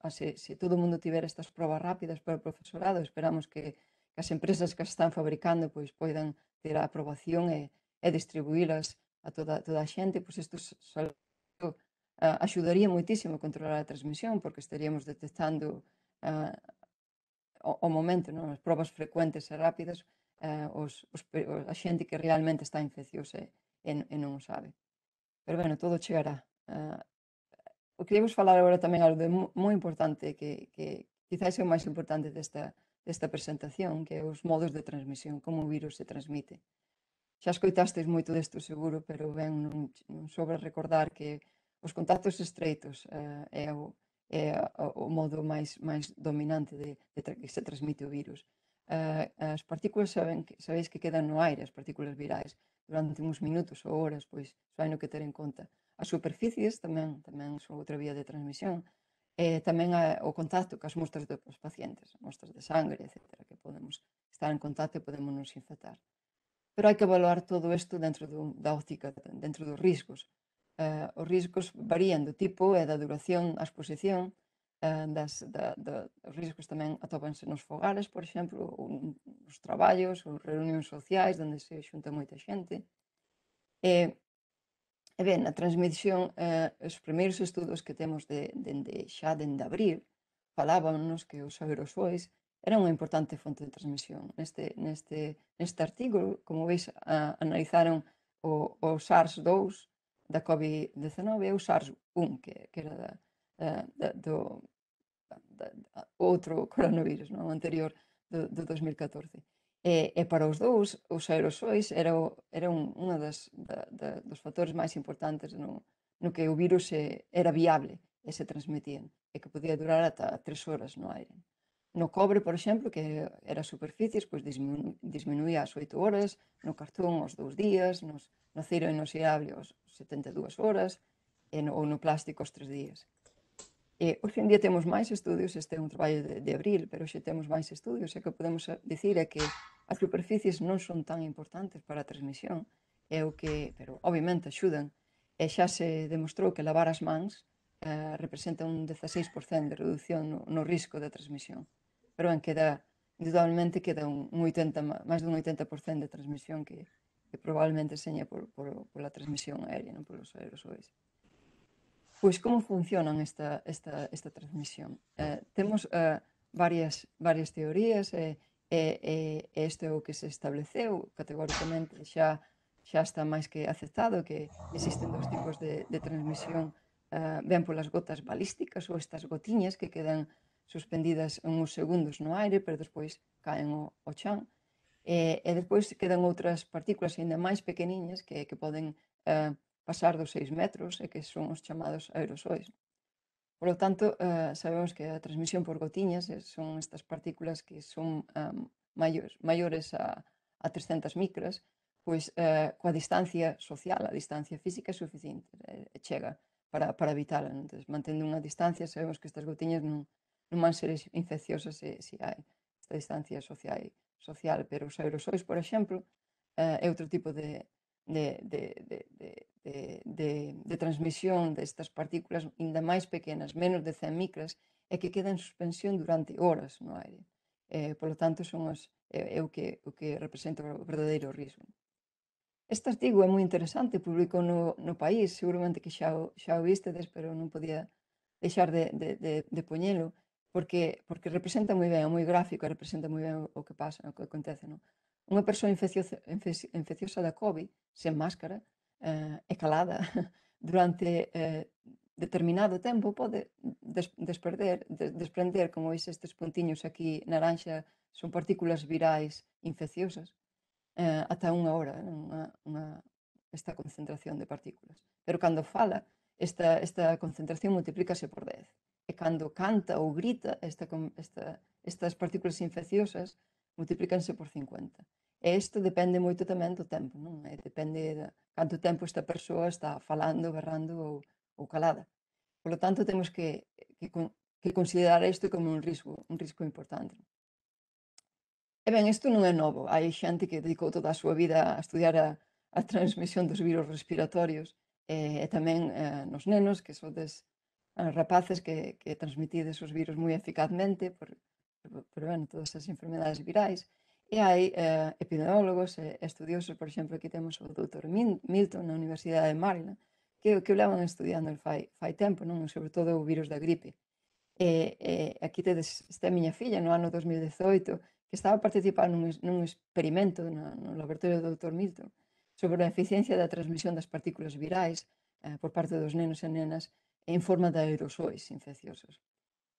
Se todo o mundo tiver estas probas rápidas para o profesorado, esperamos que as empresas que as están fabricando pois poidan ter a aprobación e distribuílas a toda a xente, pois isto axudaría moitísimo a controlar a transmisión, porque estaríamos detectando ao momento, non? As probas frecuentes e rápidas, a xente que realmente está infecciosa e non o sabe. Pero, bueno, todo chegará. O que queríamos falar agora tamén algo de moi importante que quizás é o máis importante desta presentación, que é os modos de transmisión, como o virus se transmite. Xa escoitastes moito desto seguro, pero ben, non sobra recordar que os contactos estreitos é o modo máis dominante de que se transmite o virus. As partículas sabeis que quedan no aire, as partículas virais, durante uns minutos ou horas, pois hai no que ter en conta. As superficies tamén son outra vía de transmisión, e tamén o contacto cas mostras dos pacientes, mostras de sangre, etc., que podemos estar en contacto e podemos nos infectar. Pero hai que evaluar todo isto dentro da óptica, dentro dos riscos. Os riscos varían do tipo e da duración a exposición, os riscos tamén atópanse nos fogares, por exemplo, ou nos traballos, ou reunións sociais, onde se xunta moita xente. E ben, a transmisión, os primeiros estudos que temos xa dende abril, falábanos que os aerosois era unha importante fonte de transmisión. Neste artigo, como veis, analizaron o SARS-2 da COVID-19 e o SARS-1, que era do outro coronavirus, non? O anterior do 2014. E para os dous, os aerosois era unha dos factores máis importantes no que o virus era viable e se transmitían, e que podía durar ata 3 horas no aire. No cobre, por exemplo, que era superficies, pois disminuía ás 8 horas, no cartón aos 2 días, no acero inoxidable aos 72 horas, ou no plástico aos 3 días. Hoxe en día temos máis estudios, este é un traballo de abril, pero hoxe temos máis estudios, e o que podemos dicir é que as superficies non son tan importantes para a transmisión, pero obviamente axudan, e xa se demostrou que lavar as mans representa un 16% de reducción no risco de transmisión. Pero indudablemente queda máis dun 80% de transmisión que probablemente seña pola transmisión aérea, non polos aerosois. Pois como funcionan esta transmisión? Temos varias teorías e isto é o que se estableceu categóricamente, xa está máis que aceptado que existen dos tipos de transmisión, ben polas gotas balísticas ou estas gotiñas que quedan suspendidas uns segundos no aire, pero despois caen ao chan, e despois quedan outras partículas ainda máis pequeniñas que poden pasar dos 6 metros e que son os chamados aerosois. Por lo tanto, sabemos que a transmisión por gotiñas son estas partículas que son maiores a 300 micras, pois coa distancia social, a distancia física é suficiente, chega para evitala. Entón, mantendo unha distancia, sabemos que estas gotiñas non van ser infecciosas se hai esta distancia social, pero os aerosois, por exemplo, é outro tipo de transmisión destas partículas ainda máis pequenas, menos de 100 micras, e que quedan en suspensión durante horas no aire. Por lo tanto, é o que representa o verdadeiro risco. Este artigo é moi interesante, publicou no País, seguramente que xa o vistedes, pero non podía deixar de poñelo, porque representa moi ben, é moi gráfico, representa moi ben o que pasa, o que acontece, non? Unha persoa infecciosa da COVID, sen máscara e calada durante determinado tempo pode desprender, como veis estes puntiños aquí naranxa, son partículas virais infecciosas, ata unha hora, esta concentración de partículas. Pero cando fala, esta concentración multiplícase por 10. E cando canta ou grita, estas partículas infecciosas multiplícanse por 50. E isto depende moito tamén do tempo, non? Depende de canto tempo esta persoa está falando, berrando ou calada. Por lo tanto, temos que considerar isto como un risco importante. E ben, isto non é novo. Hai xente que dedicou toda a súa vida a estudiar a transmisión dos virus respiratorios e tamén nos nenos, que sodes rapaces que transmitides os virus moi eficazmente bueno, todas as enfermedades virais. E hai epidemiólogos e estudiosos, por exemplo, aquí temos o Dr. Milton na Universidade de Maryland, que o levan estudiando fai tempo, non? Sobre todo o virus da gripe. Aquí tedes esta miña filla no ano 2018 que estaba a participar nun experimento no laboratorio do Dr. Milton sobre a eficiencia da transmisión das partículas virais por parte dos nenos e nenas en forma de aerosois infecciosos.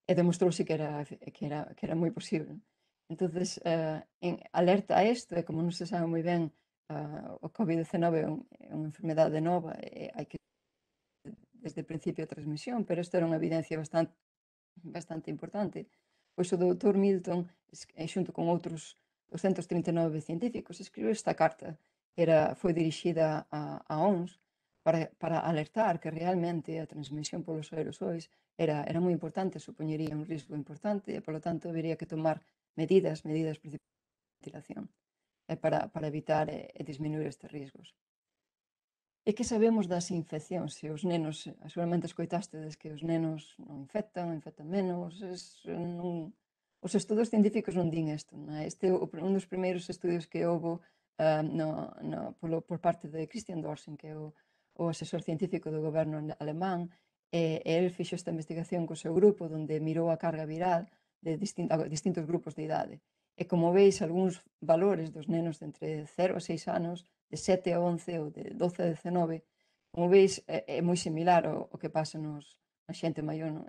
E demostrouse que era moi posible. Entonces, en alerta a isto, e como non se sabe moi ben, o COVID-19 é unha enfermedade nova e hai que desde o principio a transmisión, pero isto era unha evidencia bastante importante. Pois o Dr. Milton, xunto con outros 239 científicos, escribiu esta carta que foi dirixida á OMS para alertar que realmente a transmisión polos aerosois era moi importante, supoñería un risco importante e, polo tanto, habería que tomar medidas de ventilación para evitar e disminuir estes riscos. E que sabemos das infeccións? Se os nenos, seguramente escoitástedes que os nenos non infectan menos, os estudos científicos non din isto. Este é un dos primeiros estudios que houve por parte de Christian Dorsen, que é o asesor científico do goberno alemán, e el fixo esta investigación co seu grupo, onde mirou a carga viral de distintos grupos de idade. E como veis, algúns valores dos nenos de entre 0 a 6 anos, de 7 a 11 ou de 12 a 19, como veis, é moi similar ao que pasa na xente maior. Non?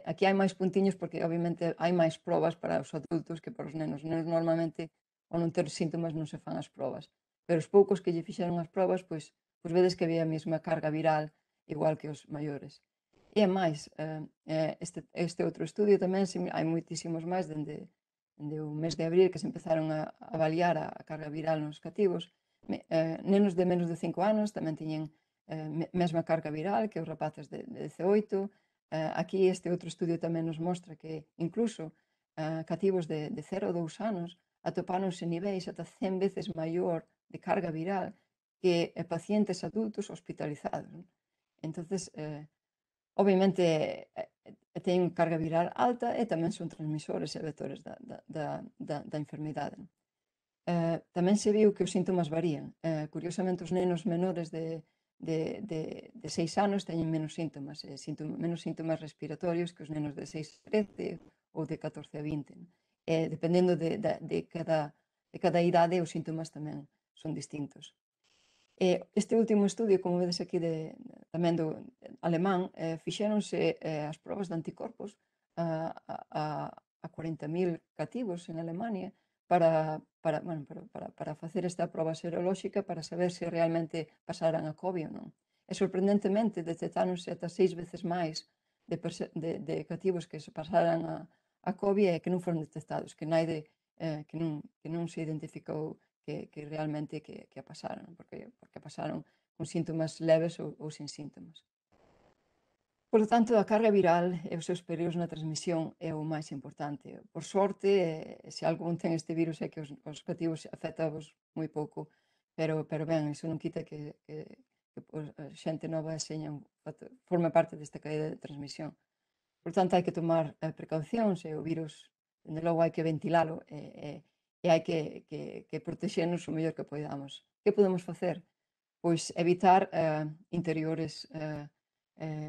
Aquí hai máis puntiños porque, obviamente, hai máis probas para os adultos que para os nenos. Os nenos, normalmente, ao non ter síntomas, non se fan as probas. Pero os poucos que lle fixeron as probas, pois vedes que había a mesma carga viral igual que os maiores. E é máis, este outro estudio tamén, hai moitísimos máis dende o mes de abril que se empezaron a avaliar a carga viral nos cativos. Nenos de menos de 5 anos tamén tiñen mesma carga viral que os rapaces de 18. Aquí este outro estudio tamén nos mostra que incluso cativos de 0 a 2 anos atopáronse niveis ata 100 veces maior de carga viral que pacientes adultos hospitalizados. Entonces, obviamente, teñen carga viral alta e tamén son transmisores e vectores da enfermidade. Tamén se viu que os síntomas varían. Curiosamente, os nenos menores de 6 anos teñen menos síntomas respiratorios que os nenos de 6 a 13 ou de 14 a 20. Dependendo de cada idade, os síntomas tamén son distintos. Este último estudio, como vedes aquí tamén do alemán, fixéronse as probas de anticorpos a 40.000 cativos en Alemania para facer esta proba serolóxica para saber se realmente pasaran a COVID ou non. E sorprendentemente detectáronse ata 6 veces máis de cativos que se pasaran a COVID e que non foron detectados, que non se identificou que realmente que a pasaron, porque pasaron con síntomas leves ou sin síntomas. Por lo tanto, a carga viral e os seus períodos na transmisión é o máis importante. Por sorte, se algún ten este virus é que os cativos afectados moi pouco, pero ben, iso non quita que a xente nova forma parte desta caída de transmisión. Por tanto, hai que tomar precaucións e o virus, dende logo, hai que ventilalo e hai que protexernos o mellor que poidamos. Que podemos facer? Pois evitar interiores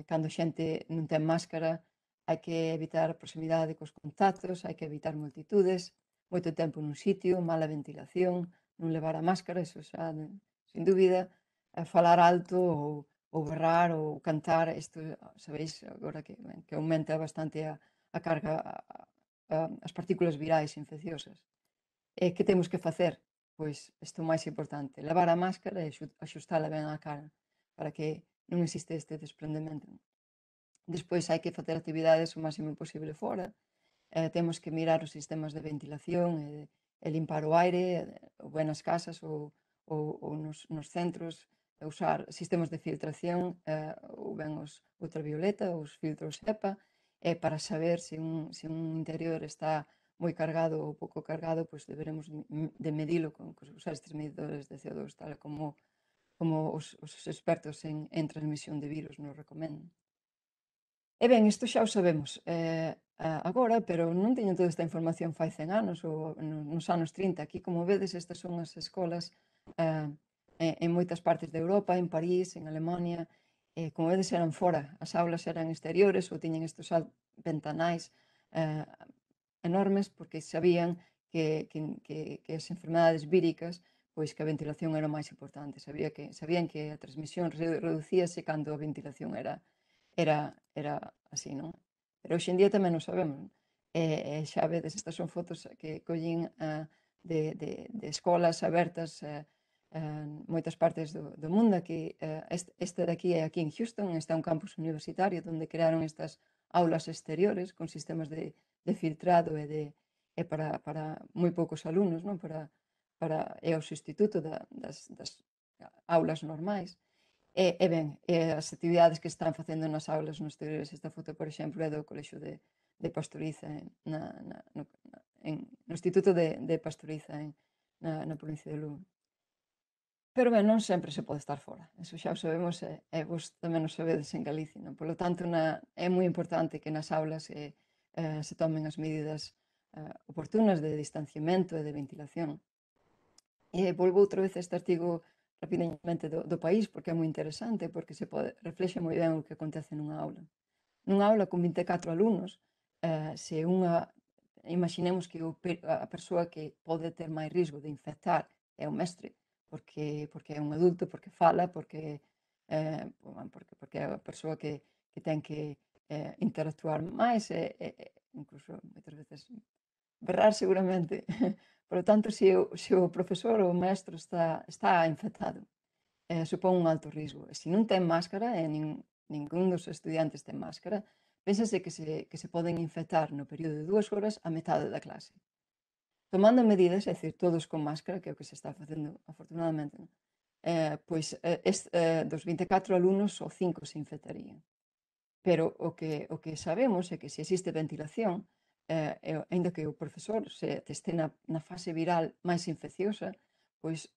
cando a xente non ten máscara, hai que evitar a proximidade cos contactos, hai que evitar multitudes, moito tempo nun sitio, mala ventilación, non levar a máscara, eso xa, sin dúbida, falar alto ou berrar ou cantar, isto sabéis agora que aumenta bastante a carga, as partículas virais infecciosas. Que temos que facer? Pois isto máis importante, levar a máscara e axustala ben á cara para que non existe este desprendemento. Despois hai que facer actividades o máximo posible fora, temos que mirar os sistemas de ventilación e limpar o aire, ou ben nas casas ou nos centros, usar sistemas de filtración ou ben os ultravioleta ou os filtros HEPA para saber se un interior está moi cargado ou pouco cargado, pois deberemos de medilo con usar estes medidores de CO2, tal como os expertos en transmisión de virus nos recomendan. E ben, isto xa o sabemos agora, pero non teño toda esta información fai 100 anos ou nos anos 30. Aquí, como vedes, estas son as escolas en moitas partes de Europa, en París, en Alemania. Como vedes, eran fora. As aulas eran exteriores ou tiñen estes ventanais enormes porque sabían que as enfermedades víricas, pois que a ventilación era o máis importante. Sabían que a transmisión reducíase cando a ventilación era así, non? Pero hoxe en día tamén o sabemos. Xa vedes, estas son fotos que collín de escolas abertas en moitas partes do mundo. Aquí, este de aquí é aquí en Houston, está un campus universitario onde crearon estas aulas exteriores con sistemas de filtrado e para moi poucos alumnos, non? É o sustituto das aulas normais. Ben, as actividades que están facendo nas aulas nos exteriores, esta foto, por exemplo, é do Colexio de Pastoriza no Instituto de Pastoriza na provincia de Lugo. Pero ben, non sempre se pode estar fora, eso xa o sabemos e vos tamén o sabedes en Galicia, non? Polo tanto, é moi importante que nas aulas se tomen as medidas oportunas de distanciamento e de ventilación. Volvo outra vez a este artigo rapidamente do País, porque é moi interesante, porque reflexa moi ben o que acontece nunha aula. Nunha aula con 24 alumnos, se imaginemos que a persoa que pode ter máis risco de infectar é o mestre, porque é un adulto, porque fala, porque é a persoa que ten que interactuar máis e incluso moitas veces berrar seguramente. Por lo tanto, se o profesor ou o maestro está infectado, supón un alto risco. E se non ten máscara, e ningún dos estudiantes ten máscara, pénsase que se poden infectar no período de 2 horas a metade da clase. Tomando medidas, é dicir, todos con máscara, que é o que se está facendo afortunadamente, pois dos 24 alumnos, só 5 se infectarían. Pero o que sabemos é que se existe ventilación, aínda que o profesor este na fase viral máis infecciosa, pois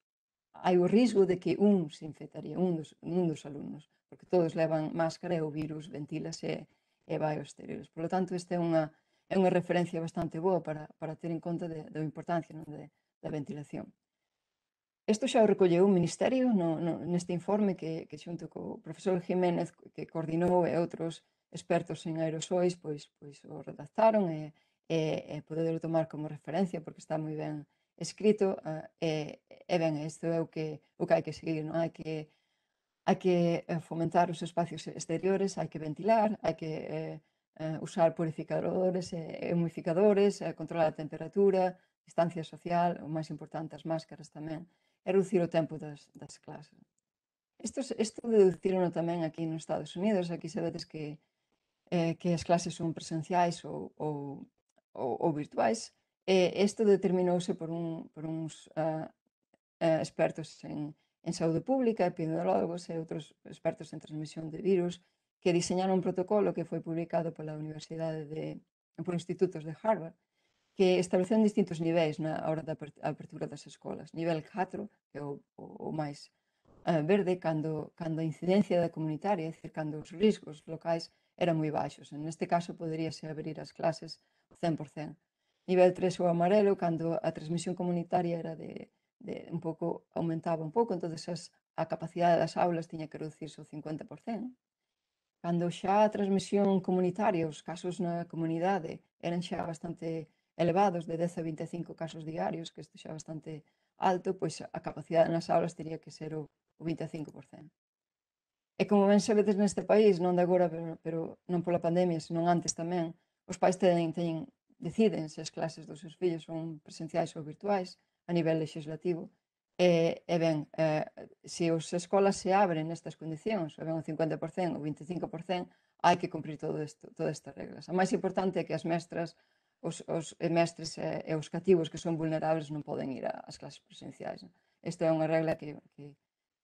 hai o risco de que se infectaría, un dos alumnos, porque todos levan máscara e o virus ventílase e vai aos exteriores. Por lo tanto, esta é unha referencia bastante boa para ter en conta da importancia da ventilación. Isto xa o recolleu o Ministerio neste informe que xunto co profesor Jiménez, que coordinou, e outros expertos en aerosois, pois o redactaron e poder tomar como referencia porque está moi ben escrito e ben, isto é o que hai que seguir, non? Hai que fomentar os espacios exteriores, hai que ventilar, hai que usar purificadores e humificadores, controlar a temperatura, distancia social, o máis importante, as máscaras tamén, e reducir o tempo das clases. Isto deducirono tamén aquí nos Estados Unidos. Aquí sabedes que as clases son presenciais ou virtuais. Isto determinouse por uns expertos en saúde pública, epidemiólogos e outros expertos en transmisión de virus, que diseñaron un protocolo que foi publicado pola Universidade por institutos de Harvard, que establecen distintos niveis na hora da apertura das escolas. Nivel 4, que é o máis verde, cando a incidencia da comunitaria, é dicir, cando os riscos locais eran moi baixos. Neste caso, poderíase abrir as clases 100%. Nivel 3 o amarelo, cando a transmisión comunitaria era aumentaba un pouco, entonces a capacidade das aulas tiña que reducirse o 50%. Cando xa a transmisión comunitaria, os casos na comunidade eran xa bastante elevados, de 10 a 25 casos diarios, que isto xa é bastante alto, pois a capacidade nas aulas teria que ser o 25%. E como ben sabedes neste país, non de agora, pero non pola pandemia, senón antes tamén, os pais deciden se as clases dos seus fillos son presenciais ou virtuais a nivel legislativo. E ben, se as escolas se abren nestas condicións, o ben o 50% ou 25%, hai que cumprir todas estas reglas. A máis importante é que as mestras, os mestres e os cativos que son vulnerables non poden ir ás clases presenciais. Esta é unha regla que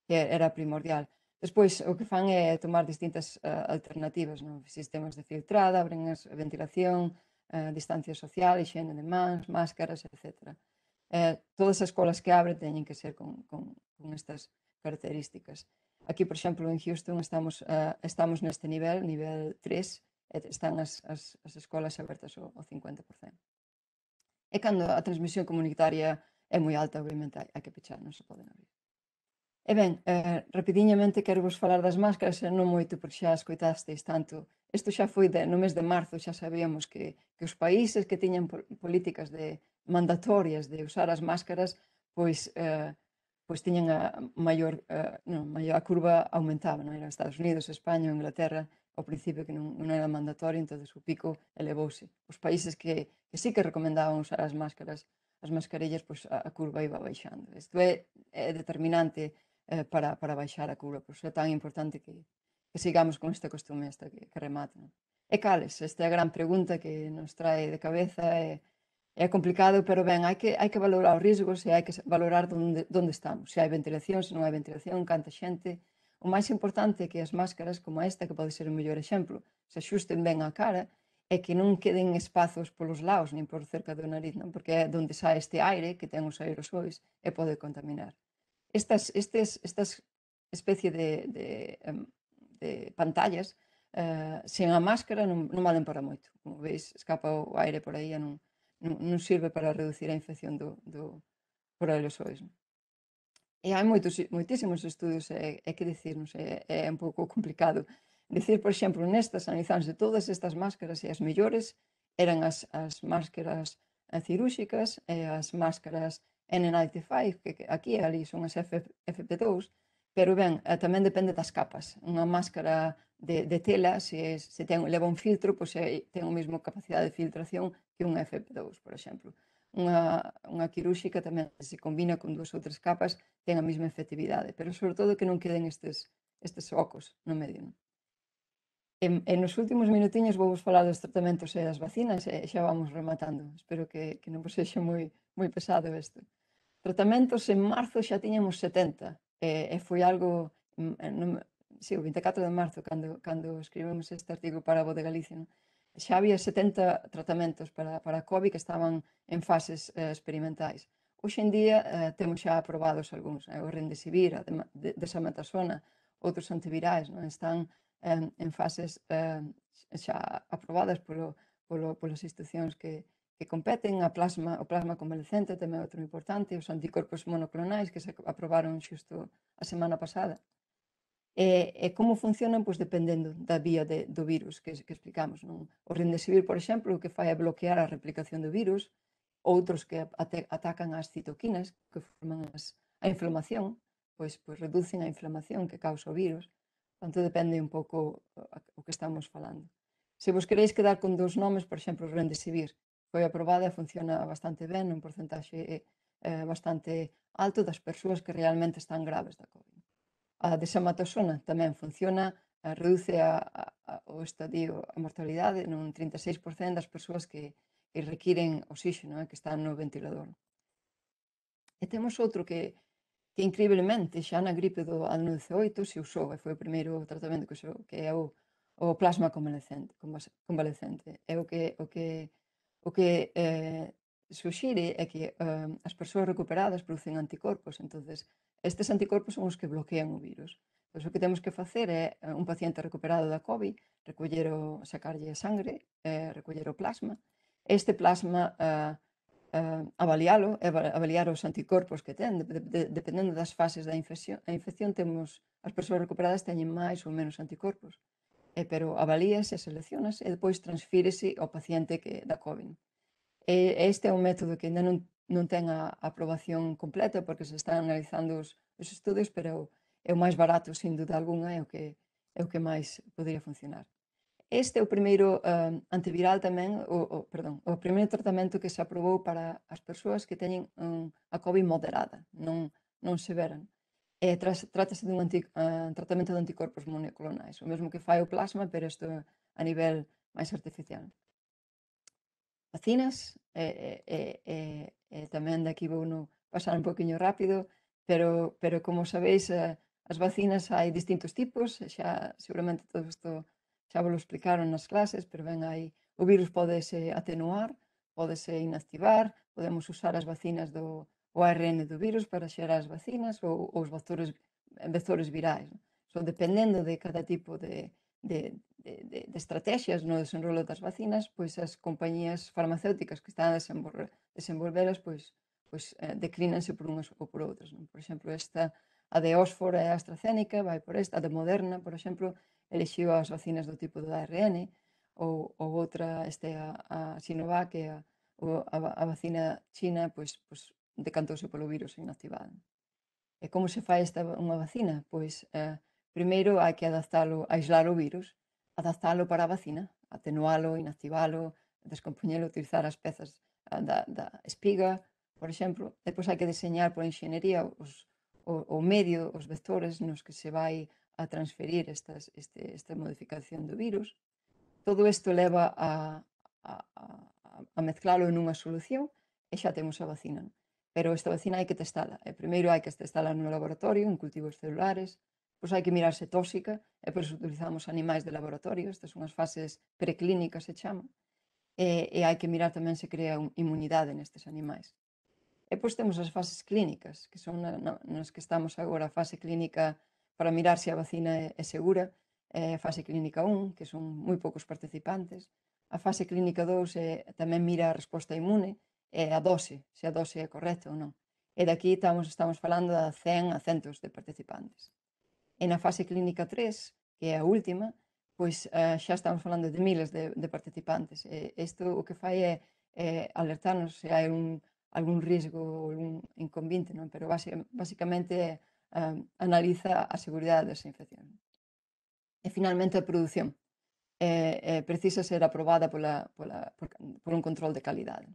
era primordial. Despois, o que fan é tomar distintas alternativas, sistemas de filtrada, abren a ventilación, distancia social, higiene de mans, máscaras, etc. Todas as escolas que abren teñen que ser con estas características. Aquí, por exemplo, en Houston estamos neste nivel 3, están as escolas abertas ao 50%. E cando a transmisión comunitaria é moi alta, obviamente, hai que pechar, non se poden abrir. E ben, rapidiñamente quero vos falar das máscaras, non moito porque xa escoitasteis tanto. Isto xa foi no mes de marzo, xa sabíamos que os países que tiñan políticas mandatorias de usar as máscaras, pois tiñan a curva aumentaba, non era Estados Unidos, España ou Inglaterra, ao principio que non era mandatorio, entón o pico elevouse. Os países que sí que recomendaban usar as máscaras, as mascarillas, pois a curva iba baixando. Isto é determinante para baixar a curva, por iso é tan importante que sigamos con este costume que remate. E cales? Esta é a gran pregunta que nos trae de cabeza, é complicado, pero ben, hai que valorar os riscos e hai que valorar onde estamos, se hai ventilación, se non hai ventilación, canta xente. O máis importante é que as máscaras como esta, que pode ser o mellor exemplo, se axusten ben á cara e que non queden espazos polos lados, nin por cerca do nariz, non? Porque é onde sai este aire que ten os aerosois e pode contaminar. Estas especie de pantallas sen a máscara non valen para moito. Como veis, escapa o aire por aí e non sirve para reducir a infección por aerosois. E hai moitísimos estudios, é que dicir, non sei, é un pouco complicado. Dicir, por exemplo, nestas analizándose todas estas máscaras e as mellores eran as máscaras cirúrxicas e as máscaras N95, que aquí e ali son as FP2, pero ben, tamén depende das capas. Unha máscara de tela, se leva un filtro, pois ten a mesma capacidade de filtración que unha FP2, por exemplo. Unha quirúrxica tamén, se combina con 2 ou 3 capas, ten a mesma efectividade, pero sobre todo que non queden estes ocos no medio. E nos últimos minutiños vou vos falar dos tratamentos e das vacinas e xa vamos rematando. Espero que non vos sexa moi pesado isto. Tratamentos en marzo xa tiñamos 70 e foi algo, o 24 de marzo, cando escribimos este artigo para a Voz de Galicia, xa había 70 tratamentos para a COVID que estaban en fases experimentais. Hoxe en día temos xa aprobados algúns, o Remdesivir, a Dexametasona, outros antivirais, están en fases xa aprobadas polas institucións que competen. O plasma convalescente tamén é outro importante, os anticorpos monoclonais que se aprobaron xusto a semana pasada. E como funcionan? Pois dependendo da vía do virus que explicamos. O Remdesivir, por exemplo, o que fai é bloquear a replicación do virus, outros que atacan as citoquinas, que forman a inflamación, pois reducen a inflamación que causa o virus. Portanto, depende un pouco o que estamos falando. Se vos queréis quedar con 2 nomes, por exemplo, o Remdesivir foi aprobada e funciona bastante ben, un porcentaxe bastante alto das persoas que realmente están graves da COVID. A Dexametasona tamén funciona, reduce o estadio, a mortalidade nun 36% das persoas que requiren oxígeno, que están no ventilador. E temos outro que increíblemente xa na gripe do ano 18 se usou e foi o primeiro tratamento que usou, que é o plasma convalescente. É o que suxire é que as persoas recuperadas producen anticorpos, entonces estes anticorpos son os que bloquean o virus. Pois o que temos que facer é un paciente recuperado da COVID, sacarlle a sangre, recoller o plasma. Este plasma avaliar os anticorpos que ten, dependendo das fases da infección. A infección as persoas recuperadas teñen máis ou menos anticorpos, pero avalíase, seleccionase e depois transfírese ao paciente da COVID. Este é un método que ainda non ten a aprobación completa porque se están analizando os estudos, pero é o máis barato, sin duda alguna, é o que máis podría funcionar. Este é o primeiro antiviral tamén, o primeiro tratamento que se aprobou para as persoas que teñen a COVID moderada, non severa. Trátase dun tratamento de anticorpos monoclonais, o mesmo que fai o plasma, pero isto a nivel máis artificial. Vacinas, tamén daqui vou pasar un poquinho rápido, pero como sabéis, as vacinas hai distintos tipos, xa seguramente todo isto xa vos lo explicaron nas clases, pero ben, hai O virus podese atenuar, podese inactivar, podemos usar as vacinas o ARN do virus para xerar as vacinas ou os vectores virais. Dependendo de cada tipo de estrategias no desenrolo das vacinas, pois as compañías farmacéuticas que están a desenvolvelas declínanse por unhas ou por outras. Por exemplo, a de Oxford e a AstraZeneca vai por esta, a de Moderna, por exemplo, elixiu as vacinas do tipo do ARN, ou outra, a Sinovac, que a vacina china, pois decantouse polo virus inactivado. E como se fai unha vacina? Pois, primeiro hai que adaptalo, aislar o virus, adaptalo para a vacina, atenualo, inactivalo, descompoñelo, utilizar as pezas da espiga, por exemplo. Depois hai que diseñar por enxenería o medio, os vectores nos que se vai a transferir esta modificación do virus. Todo isto leva a mezclalo nunha solución e xa temos a vacina. Pero esta vacina hai que testala. Primeiro hai que testala no laboratorio, en cultivos celulares, pois hai que mirar se tóxica, e por iso utilizamos animais de laboratorio, estas son as fases preclínicas, se chama, e hai que mirar tamén se crea inmunidade nestes animais. E pois temos as fases clínicas, que son nas que estamos agora, a fase clínica para mirar se a vacina é segura, a fase clínica 1, que son moi poucos participantes, a fase clínica 2 tamén mira a resposta inmune, e a dose, se a dose é correcta ou non. E daqui estamos falando de 100 a centos de participantes. E na fase clínica 3, que é a última, pois xa estamos falando de miles de participantes. Isto o que fai é alertarnos se hai algún risco ou algún inconvinte, non? Pero basicamente analiza a seguridade desa infección. E finalmente a produción. Precisa ser aprobada por un control de calidade.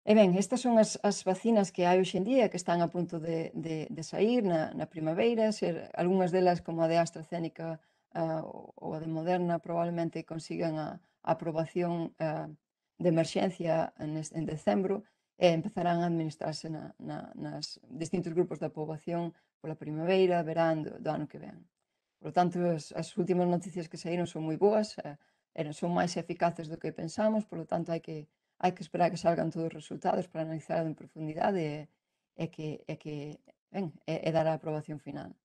E ben, estas son as vacinas que hai hoxe en día, que están a punto de sair na primavera. Algúnas delas, como a de AstraZeneca ou a de Moderna, probablemente consigan a aprobación de emerxencia en decembro e empezarán a administrarse nas distintos grupos da poboación pola primavera, verán do ano que ven. Por lo tanto, as últimas noticias que saíron son moi boas, son máis eficaces do que pensamos, por lo tanto, hai que esperar que salgan todos os resultados para analizar en profundidade e dar a aprobación final.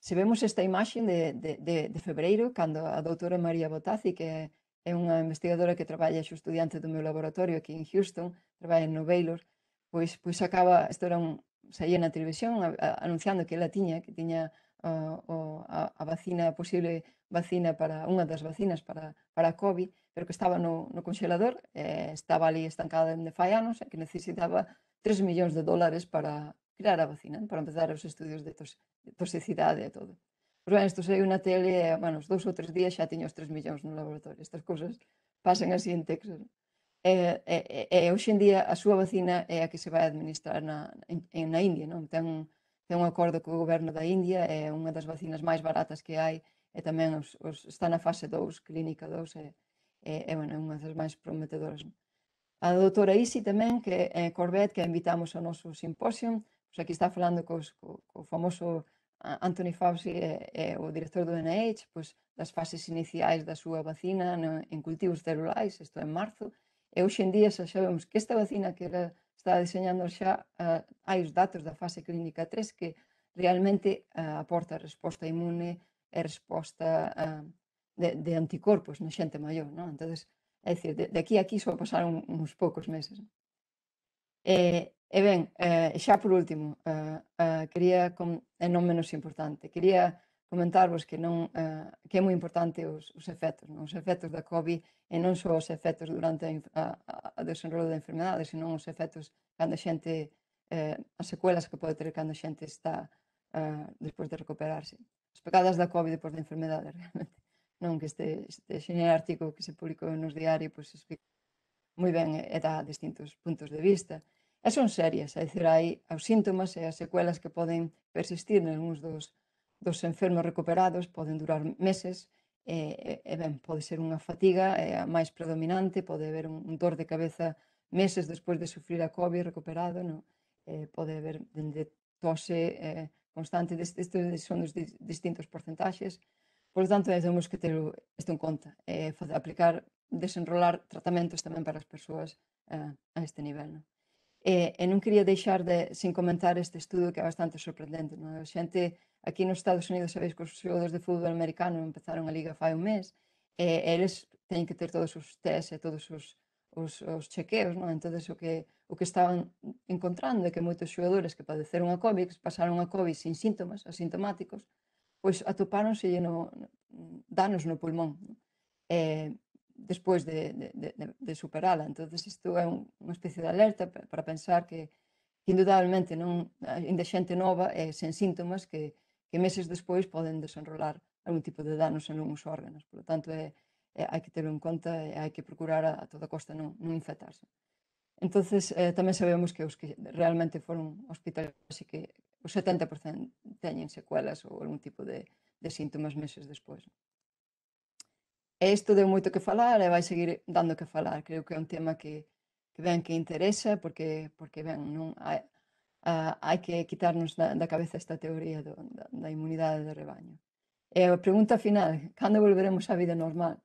Se vemos esta imaxe de febreiro, cando a doutora María Bottazzi, que é unha investigadora que traballa xo estudiante do meu laboratorio aquí en Houston, traballa en Baylor, pois isto saía na televisión anunciando que ela tiña a vacina, a posible vacina para unha das vacinas para a COVID, pero que estaba no conxelador, estaba ali estancada dende fai anos, e que necesitaba $3 millóns para crear a vacina, para empezar os estudios de toxicidade e todo. Pois ben, isto saiu na tele, e, os 2 ou 3 días xa tiña os 3 millóns no laboratorio. Estas cousas pasan así en Texas. Hoxe en día a súa vacina é a que se vai administrar na India, non? Ten un acordo co goberno da India, é unha das vacinas máis baratas que hai, e tamén está na fase 2, clínica 2, é unha das máis prometedoras. A doutora Isi tamén, que é Corbett, que a invitamos ao noso simposio, pois aquí está falando co famoso Anthony Fauci, o director do NIH, pois das fases iniciais da súa vacina en cultivos celulares, isto en marzo, e hoxe en día xa sabemos que esta vacina que ela está diseñando xa, hai os datos da fase clínica 3 que realmente aporta resposta inmune e resposta de anticorpos na xente maior, non? Entón, é dicir, de aquí a aquí só pasaron uns poucos meses. E ben, xa por último, quería, e non menos importante, quería comentarvos que é moi importante os efectos, os efectos da COVID, e non só os efectos durante o desenrolo da enfermedade, senón os efectos cando a xente, as secuelas que pode ter cando a xente está despois de recuperarse. As pegadas da COVID depois da enfermedade, realmente. Non, que este xeñal artigo que se publicou nos diarios, pois explica moi ben e dá distintos puntos de vista. E son serias, é dicir, hai os síntomas e as secuelas que poden persistir nalgúns dos enfermos recuperados, poden durar meses, e ben, pode ser unha fatiga máis predominante, pode haber un dor de cabeza meses despois de sufrir a COVID recuperado, non? Pode haber dende tose constante, estes son os distintos porcentaxes. Por lo tanto, temos que ter isto en conta, aplicar desenrolar tratamentos tamén para as persoas a este nivel. E non quería deixar sin comentar este estudo que é bastante sorprendente. A xente aquí nos Estados Unidos, sabéis que os xogadores de fútbol americano empezaron a liga fai un mes, e eles teñen que ter todos os tests e todos os chequeos, entón o que estaban encontrando é que moitos xogadores que padeceron a COVID, que pasaron a COVID sin síntomas, asintomáticos, pois atopáronse danos no pulmón despois de superala. Entón, isto é unha especie de alerta para pensar que indudablemente ainda xente nova e sen síntomas que meses despois poden desenrolar algún tipo de danos en algúns órganos. Por lo tanto, hai que terlo en conta e hai que procurar a toda costa non infectarse. Entón, tamén sabemos que os que realmente foron hospitalizados e que o 70% teñen secuelas ou algún tipo de síntomas meses despois. E isto deu moito que falar e vai seguir dando que falar. Creo que é un tema que interesa porque hai que quitarnos da cabeza esta teoría da inmunidade de rebaño. E a pregunta final, cando volveremos á vida normal?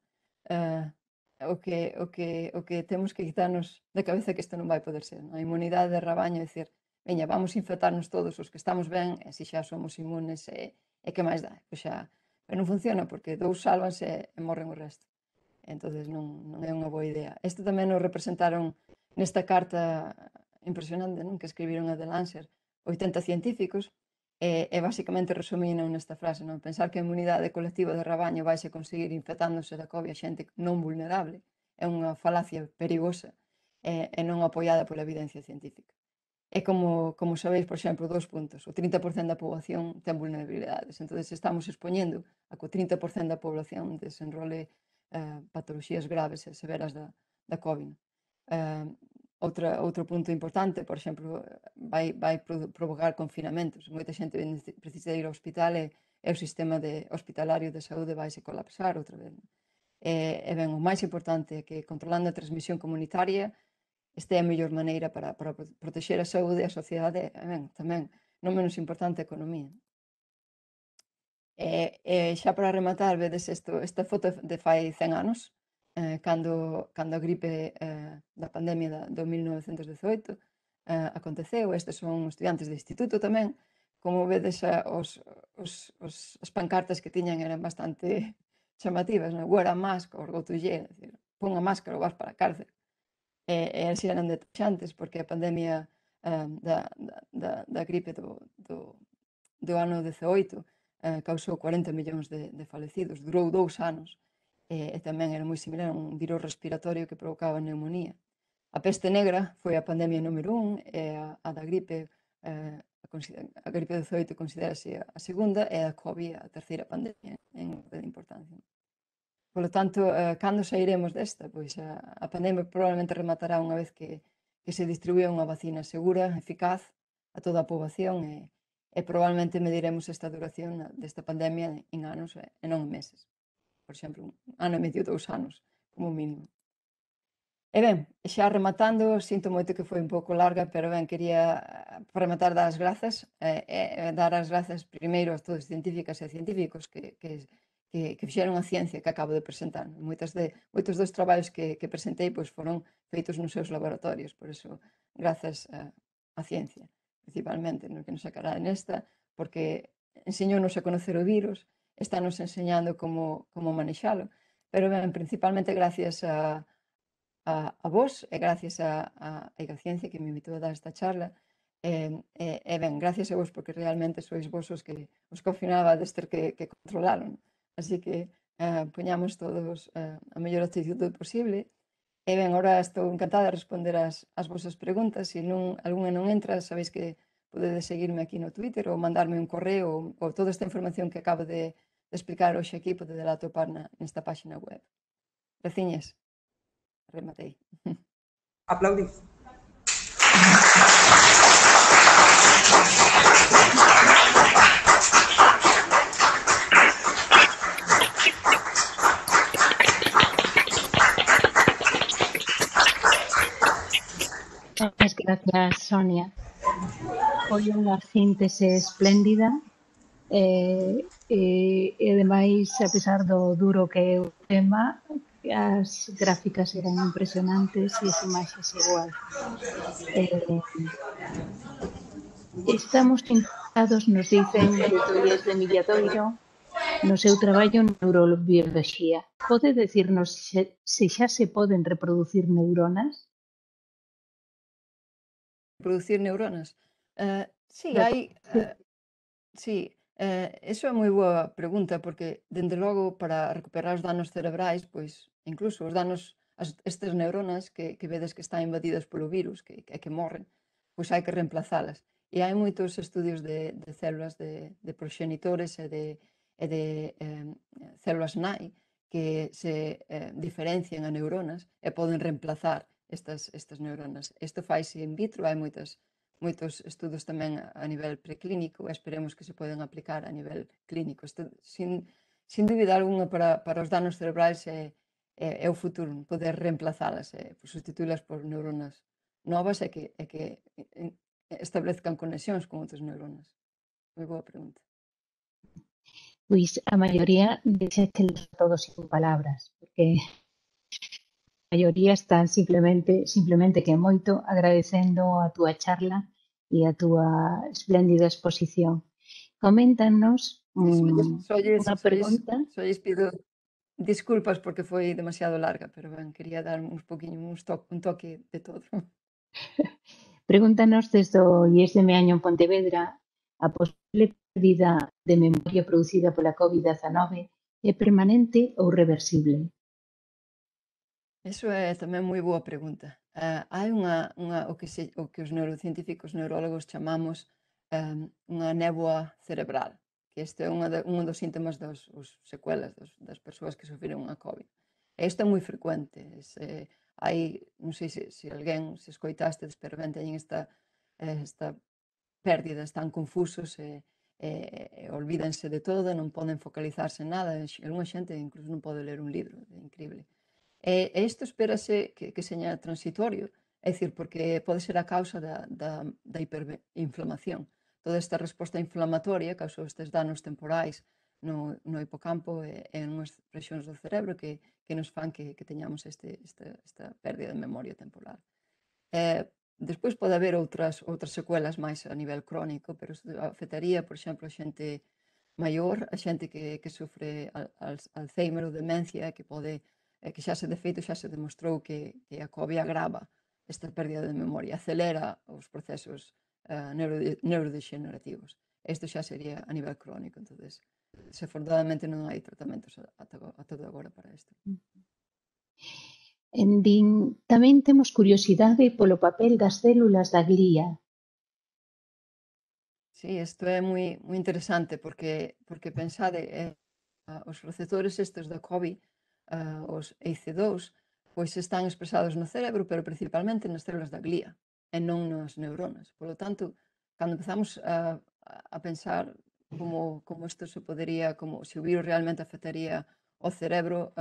O que temos que quitarnos da cabeza que isto non vai poder ser. A inmunidade de rebaño é dicir, veña, vamos infectarnos todos os que estamos ben, e se xa somos inmunes, e que máis dá? Pois xa, pero non funciona, porque dous sálvanse e morren o resto. Entón, non é unha boa idea. Isto tamén nos representaron nesta carta impresionante que escribiron a The Lancet 80 científicos, e basicamente resumían nesta frase, pensar que a inmunidade colectiva de rabaño vaise conseguir infectándose da COVID a xente non vulnerable é unha falacia perigosa e non apoiada pola evidencia científica. É como sabéis, por exemplo, 2 puntos. O 30% da poboación ten vulnerabilidades. Entón, estamos expoñendo a que o 30% da poboación desenrole patoloxías graves e severas da COVID. Outro punto importante, por exemplo, vai provocar confinamentos. Moita xente precisa ir ao hospital e o sistema hospitalario de saúde vai se colapsar outra vez. E ben, o máis importante é que controlando a transmisión comunitaria esta é a mellor maneira para protexer a saúde e a sociedade e ben, tamén, non menos importante, a economía. E xa para rematar, vedes esta foto de fai 100 anos, cando a gripe da pandemia do 1918 aconteceu. Estes son estudiantes de instituto tamén. Como vedes, as pancartas que tiñan eran bastante chamativas. Wear a mask or go to jail. Pon a máscara ou vas para a cárcel. E así eran detaxantes, porque a pandemia da gripe do ano 18 causou 40 millóns de falecidos. Durou 2 anos. E tamén era moi similar a un virus respiratorio que provocaba neumonía. A peste negra foi a pandemia número 1 e a da gripe, a gripe 18 considérase a segunda e a COVID a terceira pandemia en orde de importancia. Por lo tanto, cando sairemos desta? Pois a pandemia probablemente rematará unha vez que se distribúa unha vacina segura, eficaz a toda a poboación e probablemente mediremos esta duración desta pandemia en anos e non en meses. Por exemplo, 1 ano e medio, 2 anos, como mínimo. E ben, xa rematando, sinto moito que foi un pouco larga, pero ben, quería rematar dar as grazas, dar as grazas primeiro a todos os científicas e científicos que fixeron a ciencia que acabo de presentar. Moitos dos traballos que presentei foron feitos nos seus laboratorios, por iso, grazas á ciencia, principalmente, no que nos sacará nesta, porque enseñounos a conocer o virus, estános enseñando como manexalo, pero ben, principalmente gracias a vos e gracias a Egaciencia que me invitou a dar esta charla e ben, gracias a vos porque realmente sois vos os que ao final vades ter que controlaron, así que poñamos todos a mellor actitude posible e ben, ahora estou encantada de responder as vosas preguntas, se algunha non entra, sabéis que podedes seguirme aquí no Twitter ou mandarme un correo ou toda esta información que acabo de explicar hoxe aquí podedes atopar nesta página web. Graciñas. Rematei. Aplaudís. Muchas gracias, Sonia. Foi unha síntese espléndida e ademais, a pesar do duro que é o tema, as gráficas eran impresionantes e as imaxes igual. Estamos interesados, nos dicen de Tolles de Milladoiro, no seu traballo en neurobioloxía. Pode decirnos se xa se poden reproducir neuronas? Producir neuronas? Sí, Claro, hai... Sí, iso é moi boa pregunta, porque, dende logo, para recuperar os danos cerebrais, pois, incluso os danos, estas neuronas que vedes que están invadidas polo virus, que morren, pois hai que reemplazalas. E hai moitos estudios de células de proxenitores e de células nai que se diferencian a neuronas e poden reemplazar estas neuronas. Isto faise in vitro, hai moitos estudos tamén a nivel preclínico e esperemos que se poden aplicar a nivel clínico. Isto, sin dúbida alguna, para os danos cerebrais é o futuro, poder reemplazalas, sustituílas por neuronas novas e que establezcan conexións con outras neuronas. Moi boa pregunta. pois a maioría deixa que todos sin palabras, porque a maioría están simplemente que moito agradecendo a túa charla e a túa espléndida exposición. Coméntanos unha pregunta. Lles pido disculpas porque foi demasiado larga, pero ben, quería dar un toque de todo. Pregúntanos desde o IES de Meaño en Pontevedra a posible pérdida de memoria producida pola COVID-19 é permanente ou reversible? Iso é tamén moi boa pregunta. Hai o que os neurocientíficos neurólogos chamamos unha néboa cerebral, que este é un dos síntomas os secuelas das persoas que sofreron a COVID. E isto é moi frecuente. Non sei se alguén, se escoitastes, pero ben teñen esta pérdida, están confusos e olvídense de todo, non poden focalizarse en nada. Alguna xente incluso non pode ler un libro, é increíble. E isto espérase que seña transitorio, é dicir, porque pode ser a causa da hiperinflamación. Toda esta resposta inflamatoria causou estes danos temporais no hipocampo e en unhas rexións do cerebro que nos fan que teñamos esta pérdida de memoria temporal. Despois pode haber outras secuelas máis a nivel crónico, pero isto afectaría, por exemplo, a xente maior, a xente que sofre Alzheimer ou demencia, que xa se demostrou que a COVID agrava esta pérdida de memoria, acelera os procesos neurodegenerativos. Isto xa sería a nivel crónico, entonces, desafortunadamente non hai tratamentos a todo agora para isto. Tamén temos curiosidade polo papel das células da glía. Sí, isto é moi interesante porque pensade, os receptores estes da COVID, os ACE2, pois están expresados no cerebro, pero principalmente nas células da glía e non nas neuronas. Por lo tanto, cando empezamos a pensar como isto se podería, como se o virus realmente afectaría o cerebro,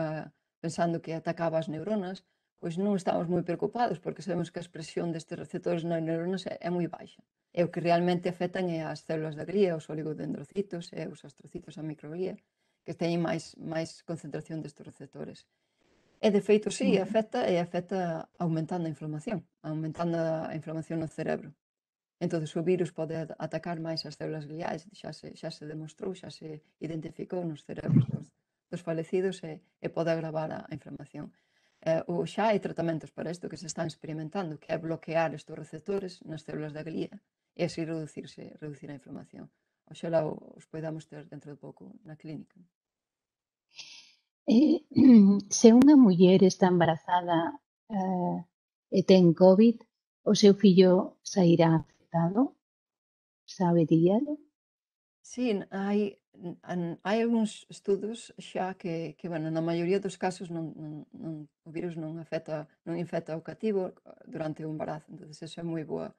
pensando que atacaba as neuronas, pois non estamos moi preocupados porque sabemos que a expresión destes receptores nas neuronas é moi baixa. E o que realmente afectan é as células da glía, os oligodendrocitos e os astrocitos, a microglía, que teñen máis concentración destes receptores. E, de feito, sí, afecta aumentando a inflamación no cerebro. Entón, o virus pode atacar máis as células gliais, xa se demostrou, xa se identificou nos cerebros dos falecidos e pode agravar a inflamación. Xa hai tratamentos para isto que se están experimentando, que é bloquear estes receptores nas células da glía e así reducir a inflamación. Oxalá os podamos ter dentro de pouco na clínica. Se unha muller está embarazada e ten COVID, o seu fillo sairá afectado? Saberíalo? Sí, hai algúns estudos xa que bueno, na maioría dos casos o virus non infecta o cativo durante o embarazo. Entón, eso é moi bo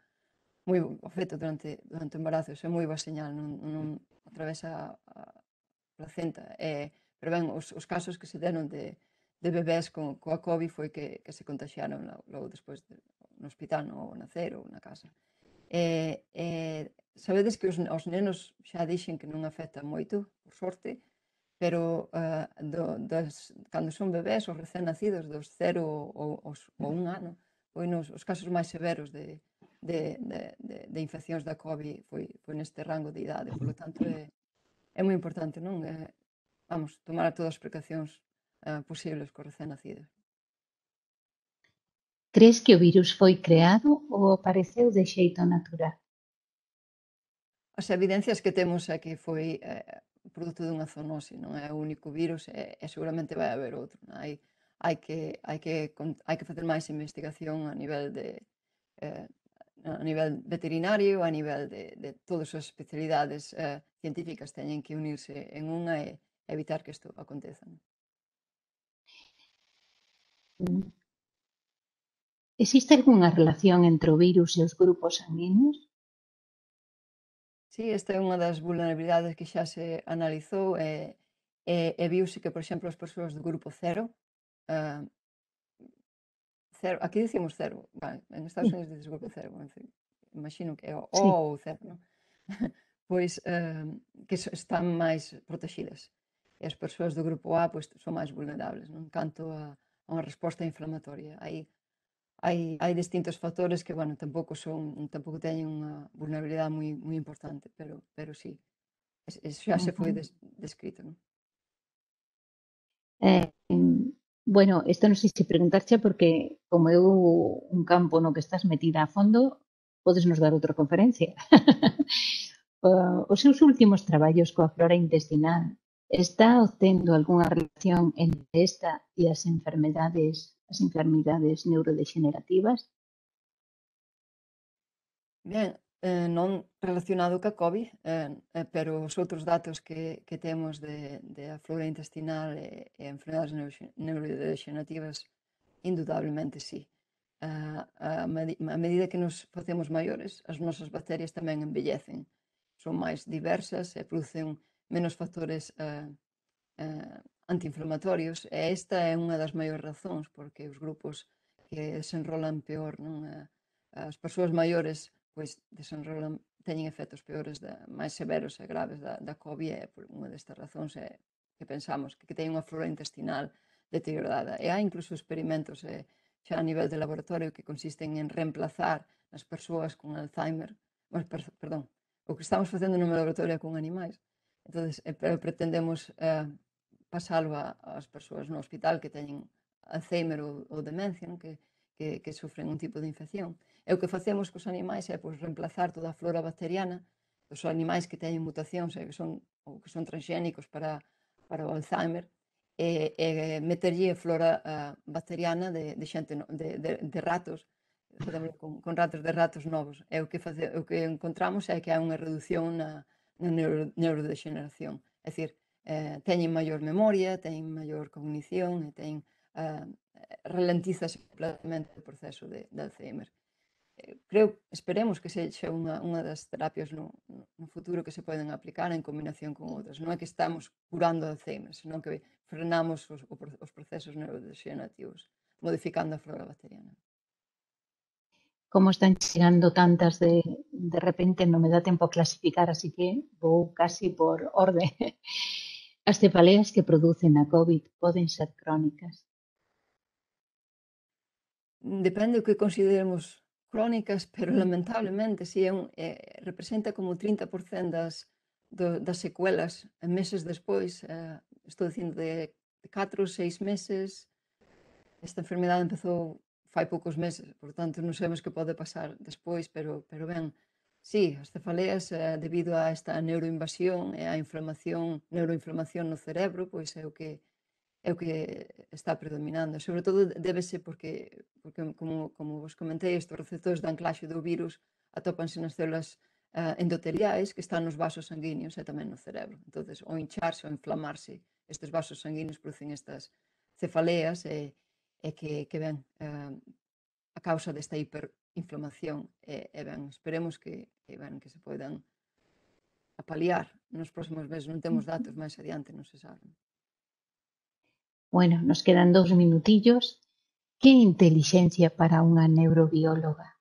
feito durante o embarazo, eso é moi boa señal, non atravesa a placenta. Pero ben, os casos que se deron de bebés coa COVID foi que se contagiaron logo despois no hospital, no nacer ou na casa. Sabedes que os nenos xa dixen que non afecta moito, por sorte, pero cando son bebés, os recén nacidos, dos 0 ou 1 ano, pois os casos máis severos de infeccións da COVID foi neste rango de idade. Por lo tanto, é moi importante, non? Vamos, tomar todas as precaucións posibles cos recén nacidos. Crees que o virus foi creado ou apareceu de xeito natural? As evidencias que temos é que foi produto dunha zoonose, non é o único virus e seguramente vai haber outro. Hai que facer máis investigación a nivel veterinario, a nivel de todas as especialidades científicas teñen que unirse en unha e evitar que isto aconteza. Existe algunha relación entre o virus e os grupos sanguíneos? Sí, esta é unha das vulnerabilidades que xa se analizou e viuse que, por exemplo, as persoas do grupo 0, aquí dicimos 0, vale, en Estados Unidos dices grupo 0, en fin, imagino que é o Sí. ou 0, non? Pois que están máis protegidas. E as persoas do grupo A pois, son máis vulnerables, non? Canto a unha resposta inflamatoria. Hai distintos factores que, bueno, tampouco teñen unha vulnerabilidade moi importante, pero sí, xa se foi descrito, non? Bueno, isto non sei se preguntarche porque como é un campo no que estás metida a fondo, podes nos dar outra conferencia. Os seus últimos traballos coa flora intestinal está obtendo algunha relación entre esta e as enfermidades neurodegenerativas? Ben, non relacionado ca COVID, pero os outros datos que temos de a flora intestinal e enfermedades neurodegenerativas, indudablemente sí. A medida que nos facemos maiores, as nosas bacterias tamén envellecen. Son máis diversas e producen menos factores antiinflamatorios e esta é unha das maiores razóns porque os grupos que desenrolan peor, non? As persoas maiores pois teñen efectos peores, máis severos e graves da COVID e por unha destas razóns é que pensamos que teñen unha flora intestinal deteriorada. E hai incluso experimentos xa a nivel de laboratorio que consisten en reemplazar as persoas con Alzheimer, perdón, o que estamos facendo no meu laboratorio con animais. Entonces, pero pretendemos pasalo ás persoas no hospital que teñen Alzheimer ou demencia, non? Que sufren un tipo de infección. E o que facemos cos animais é pois, reemplazar toda a flora bacteriana dos animais que teñen mutacións ou que son transgénicos para o Alzheimer e meterlle flora bacteriana de ratos, con ratos novos. E o que encontramos é que hai unha reducción na neurodegeneración. É dicir, teñen maior memoria, teñen maior cognición e teñen ralentizase completamente o proceso de Alzheimer. Esperemos que sexa unha das terapias no futuro que se poden aplicar en combinación con outras. Non é que estamos curando Alzheimer, senón que frenamos os procesos neurodegenerativos, modificando a flora bacteriana. Como están chegando tantas de repente non me dá tempo a clasificar, así que vou casi por orde. As cefaleas que producen a COVID poden ser crónicas? Depende do que consideremos crónicas, pero lamentablemente si representa como 30% das secuelas meses despois, estou dicindo de 4 ou 6 meses. Esta enfermedade empezou fai poucos meses, por tanto non sabemos que pode pasar despois, pero ben, sí, as cefaleas debido a esta neuroinvasión e a neuroinflamación no cerebro, pois é o que está predominando. Sobre todo débese porque como vos comentei, estes receptores de anclaxe do virus atópanse nas células endoteliais que están nos vasos sanguíneos e tamén no cerebro. Entonces, ao hincharse ou inflamarse estes vasos sanguíneos producen estas cefaleas e que ven a causa desta hiperinflamación e ben, esperemos que se poidan apaliar nos próximos meses. Non temos datos máis adiante, non se sabe. Bueno, nos quedan 2 minutillos. Que intelixencia para unha neurobióloga?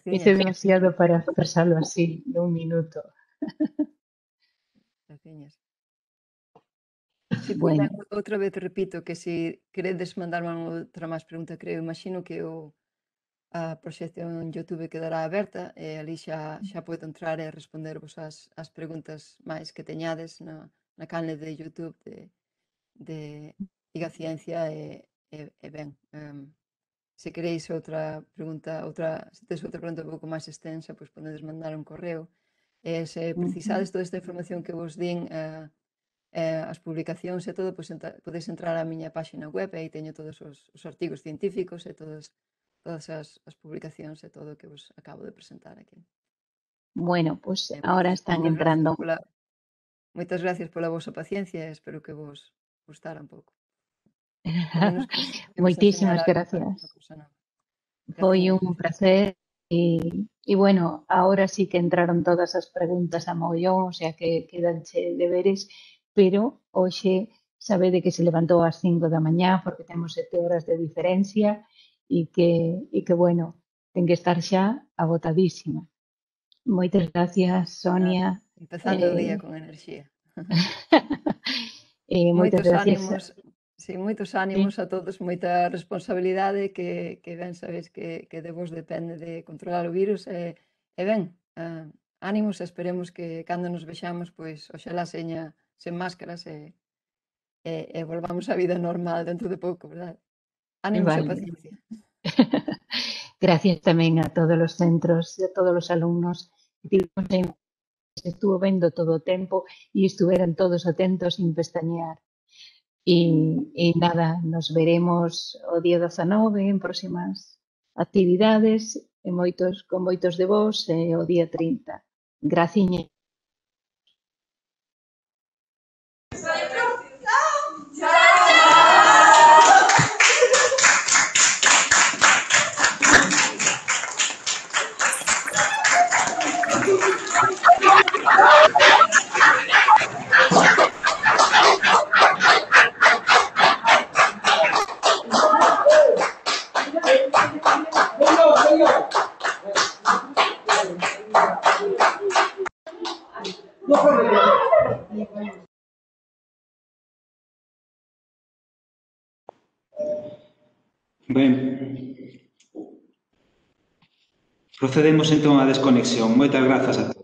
Hice demasiado para expresarlo así, de un minuto. Graciñas. Sí, Bueno. outra vez repito que se queredes mandarme outra máis pregunta, creo, imagino que a proxección en YouTube quedará aberta e ali xa podo entrar e respondervos as preguntas máis que teñades na canle de YouTube de Diga Ciencia e ben, se queréis outra pregunta, se tes outra pregunta un pouco máis extensa, pois podedes mandar un correo. Se precisades toda esta información que vos din, as publicacións e todo, pois podedes entrar á miña páxina web e aí teño todos os artigos científicos e todas as publicacións e todo o que vos acabo de presentar aquí. Bueno, pues ahora están entrando. Moitas gracias pola vosa paciencia e espero que vos gustara un pouco. Moitísimas gracias. Foi un placer e bueno, ahora sí que entraron todas as preguntas a mogollón, o sea que quedanche deberes, pero hoxe sabede que se levantou ás 5 da mañá porque temos 7 horas de diferencia e que bueno, ten que estar xa agotadísima. Moitas gracias, Sonia. Empezando o día con enerxía. Moitas gracias. Moitos ánimos a todos, moita responsabilidade que ben sabes que de vos depende de controlar o virus e ben, ánimos e esperemos que cando nos vexamos, pois oxalá seña sen máscaras e volvamos á vida normal dentro de pouco, verdad? Ánimos e paciencia. Gracias tamén a todos os centros e a todos os alumnos que estuvo vendo todo o tempo e estuveran todos atentos sin pestañear. E nada, nos veremos o día 19 en próximas actividades con moitos de vos o día 30. Graciña. Ben, procedemos entón á desconexión. Moitas grazas a todos.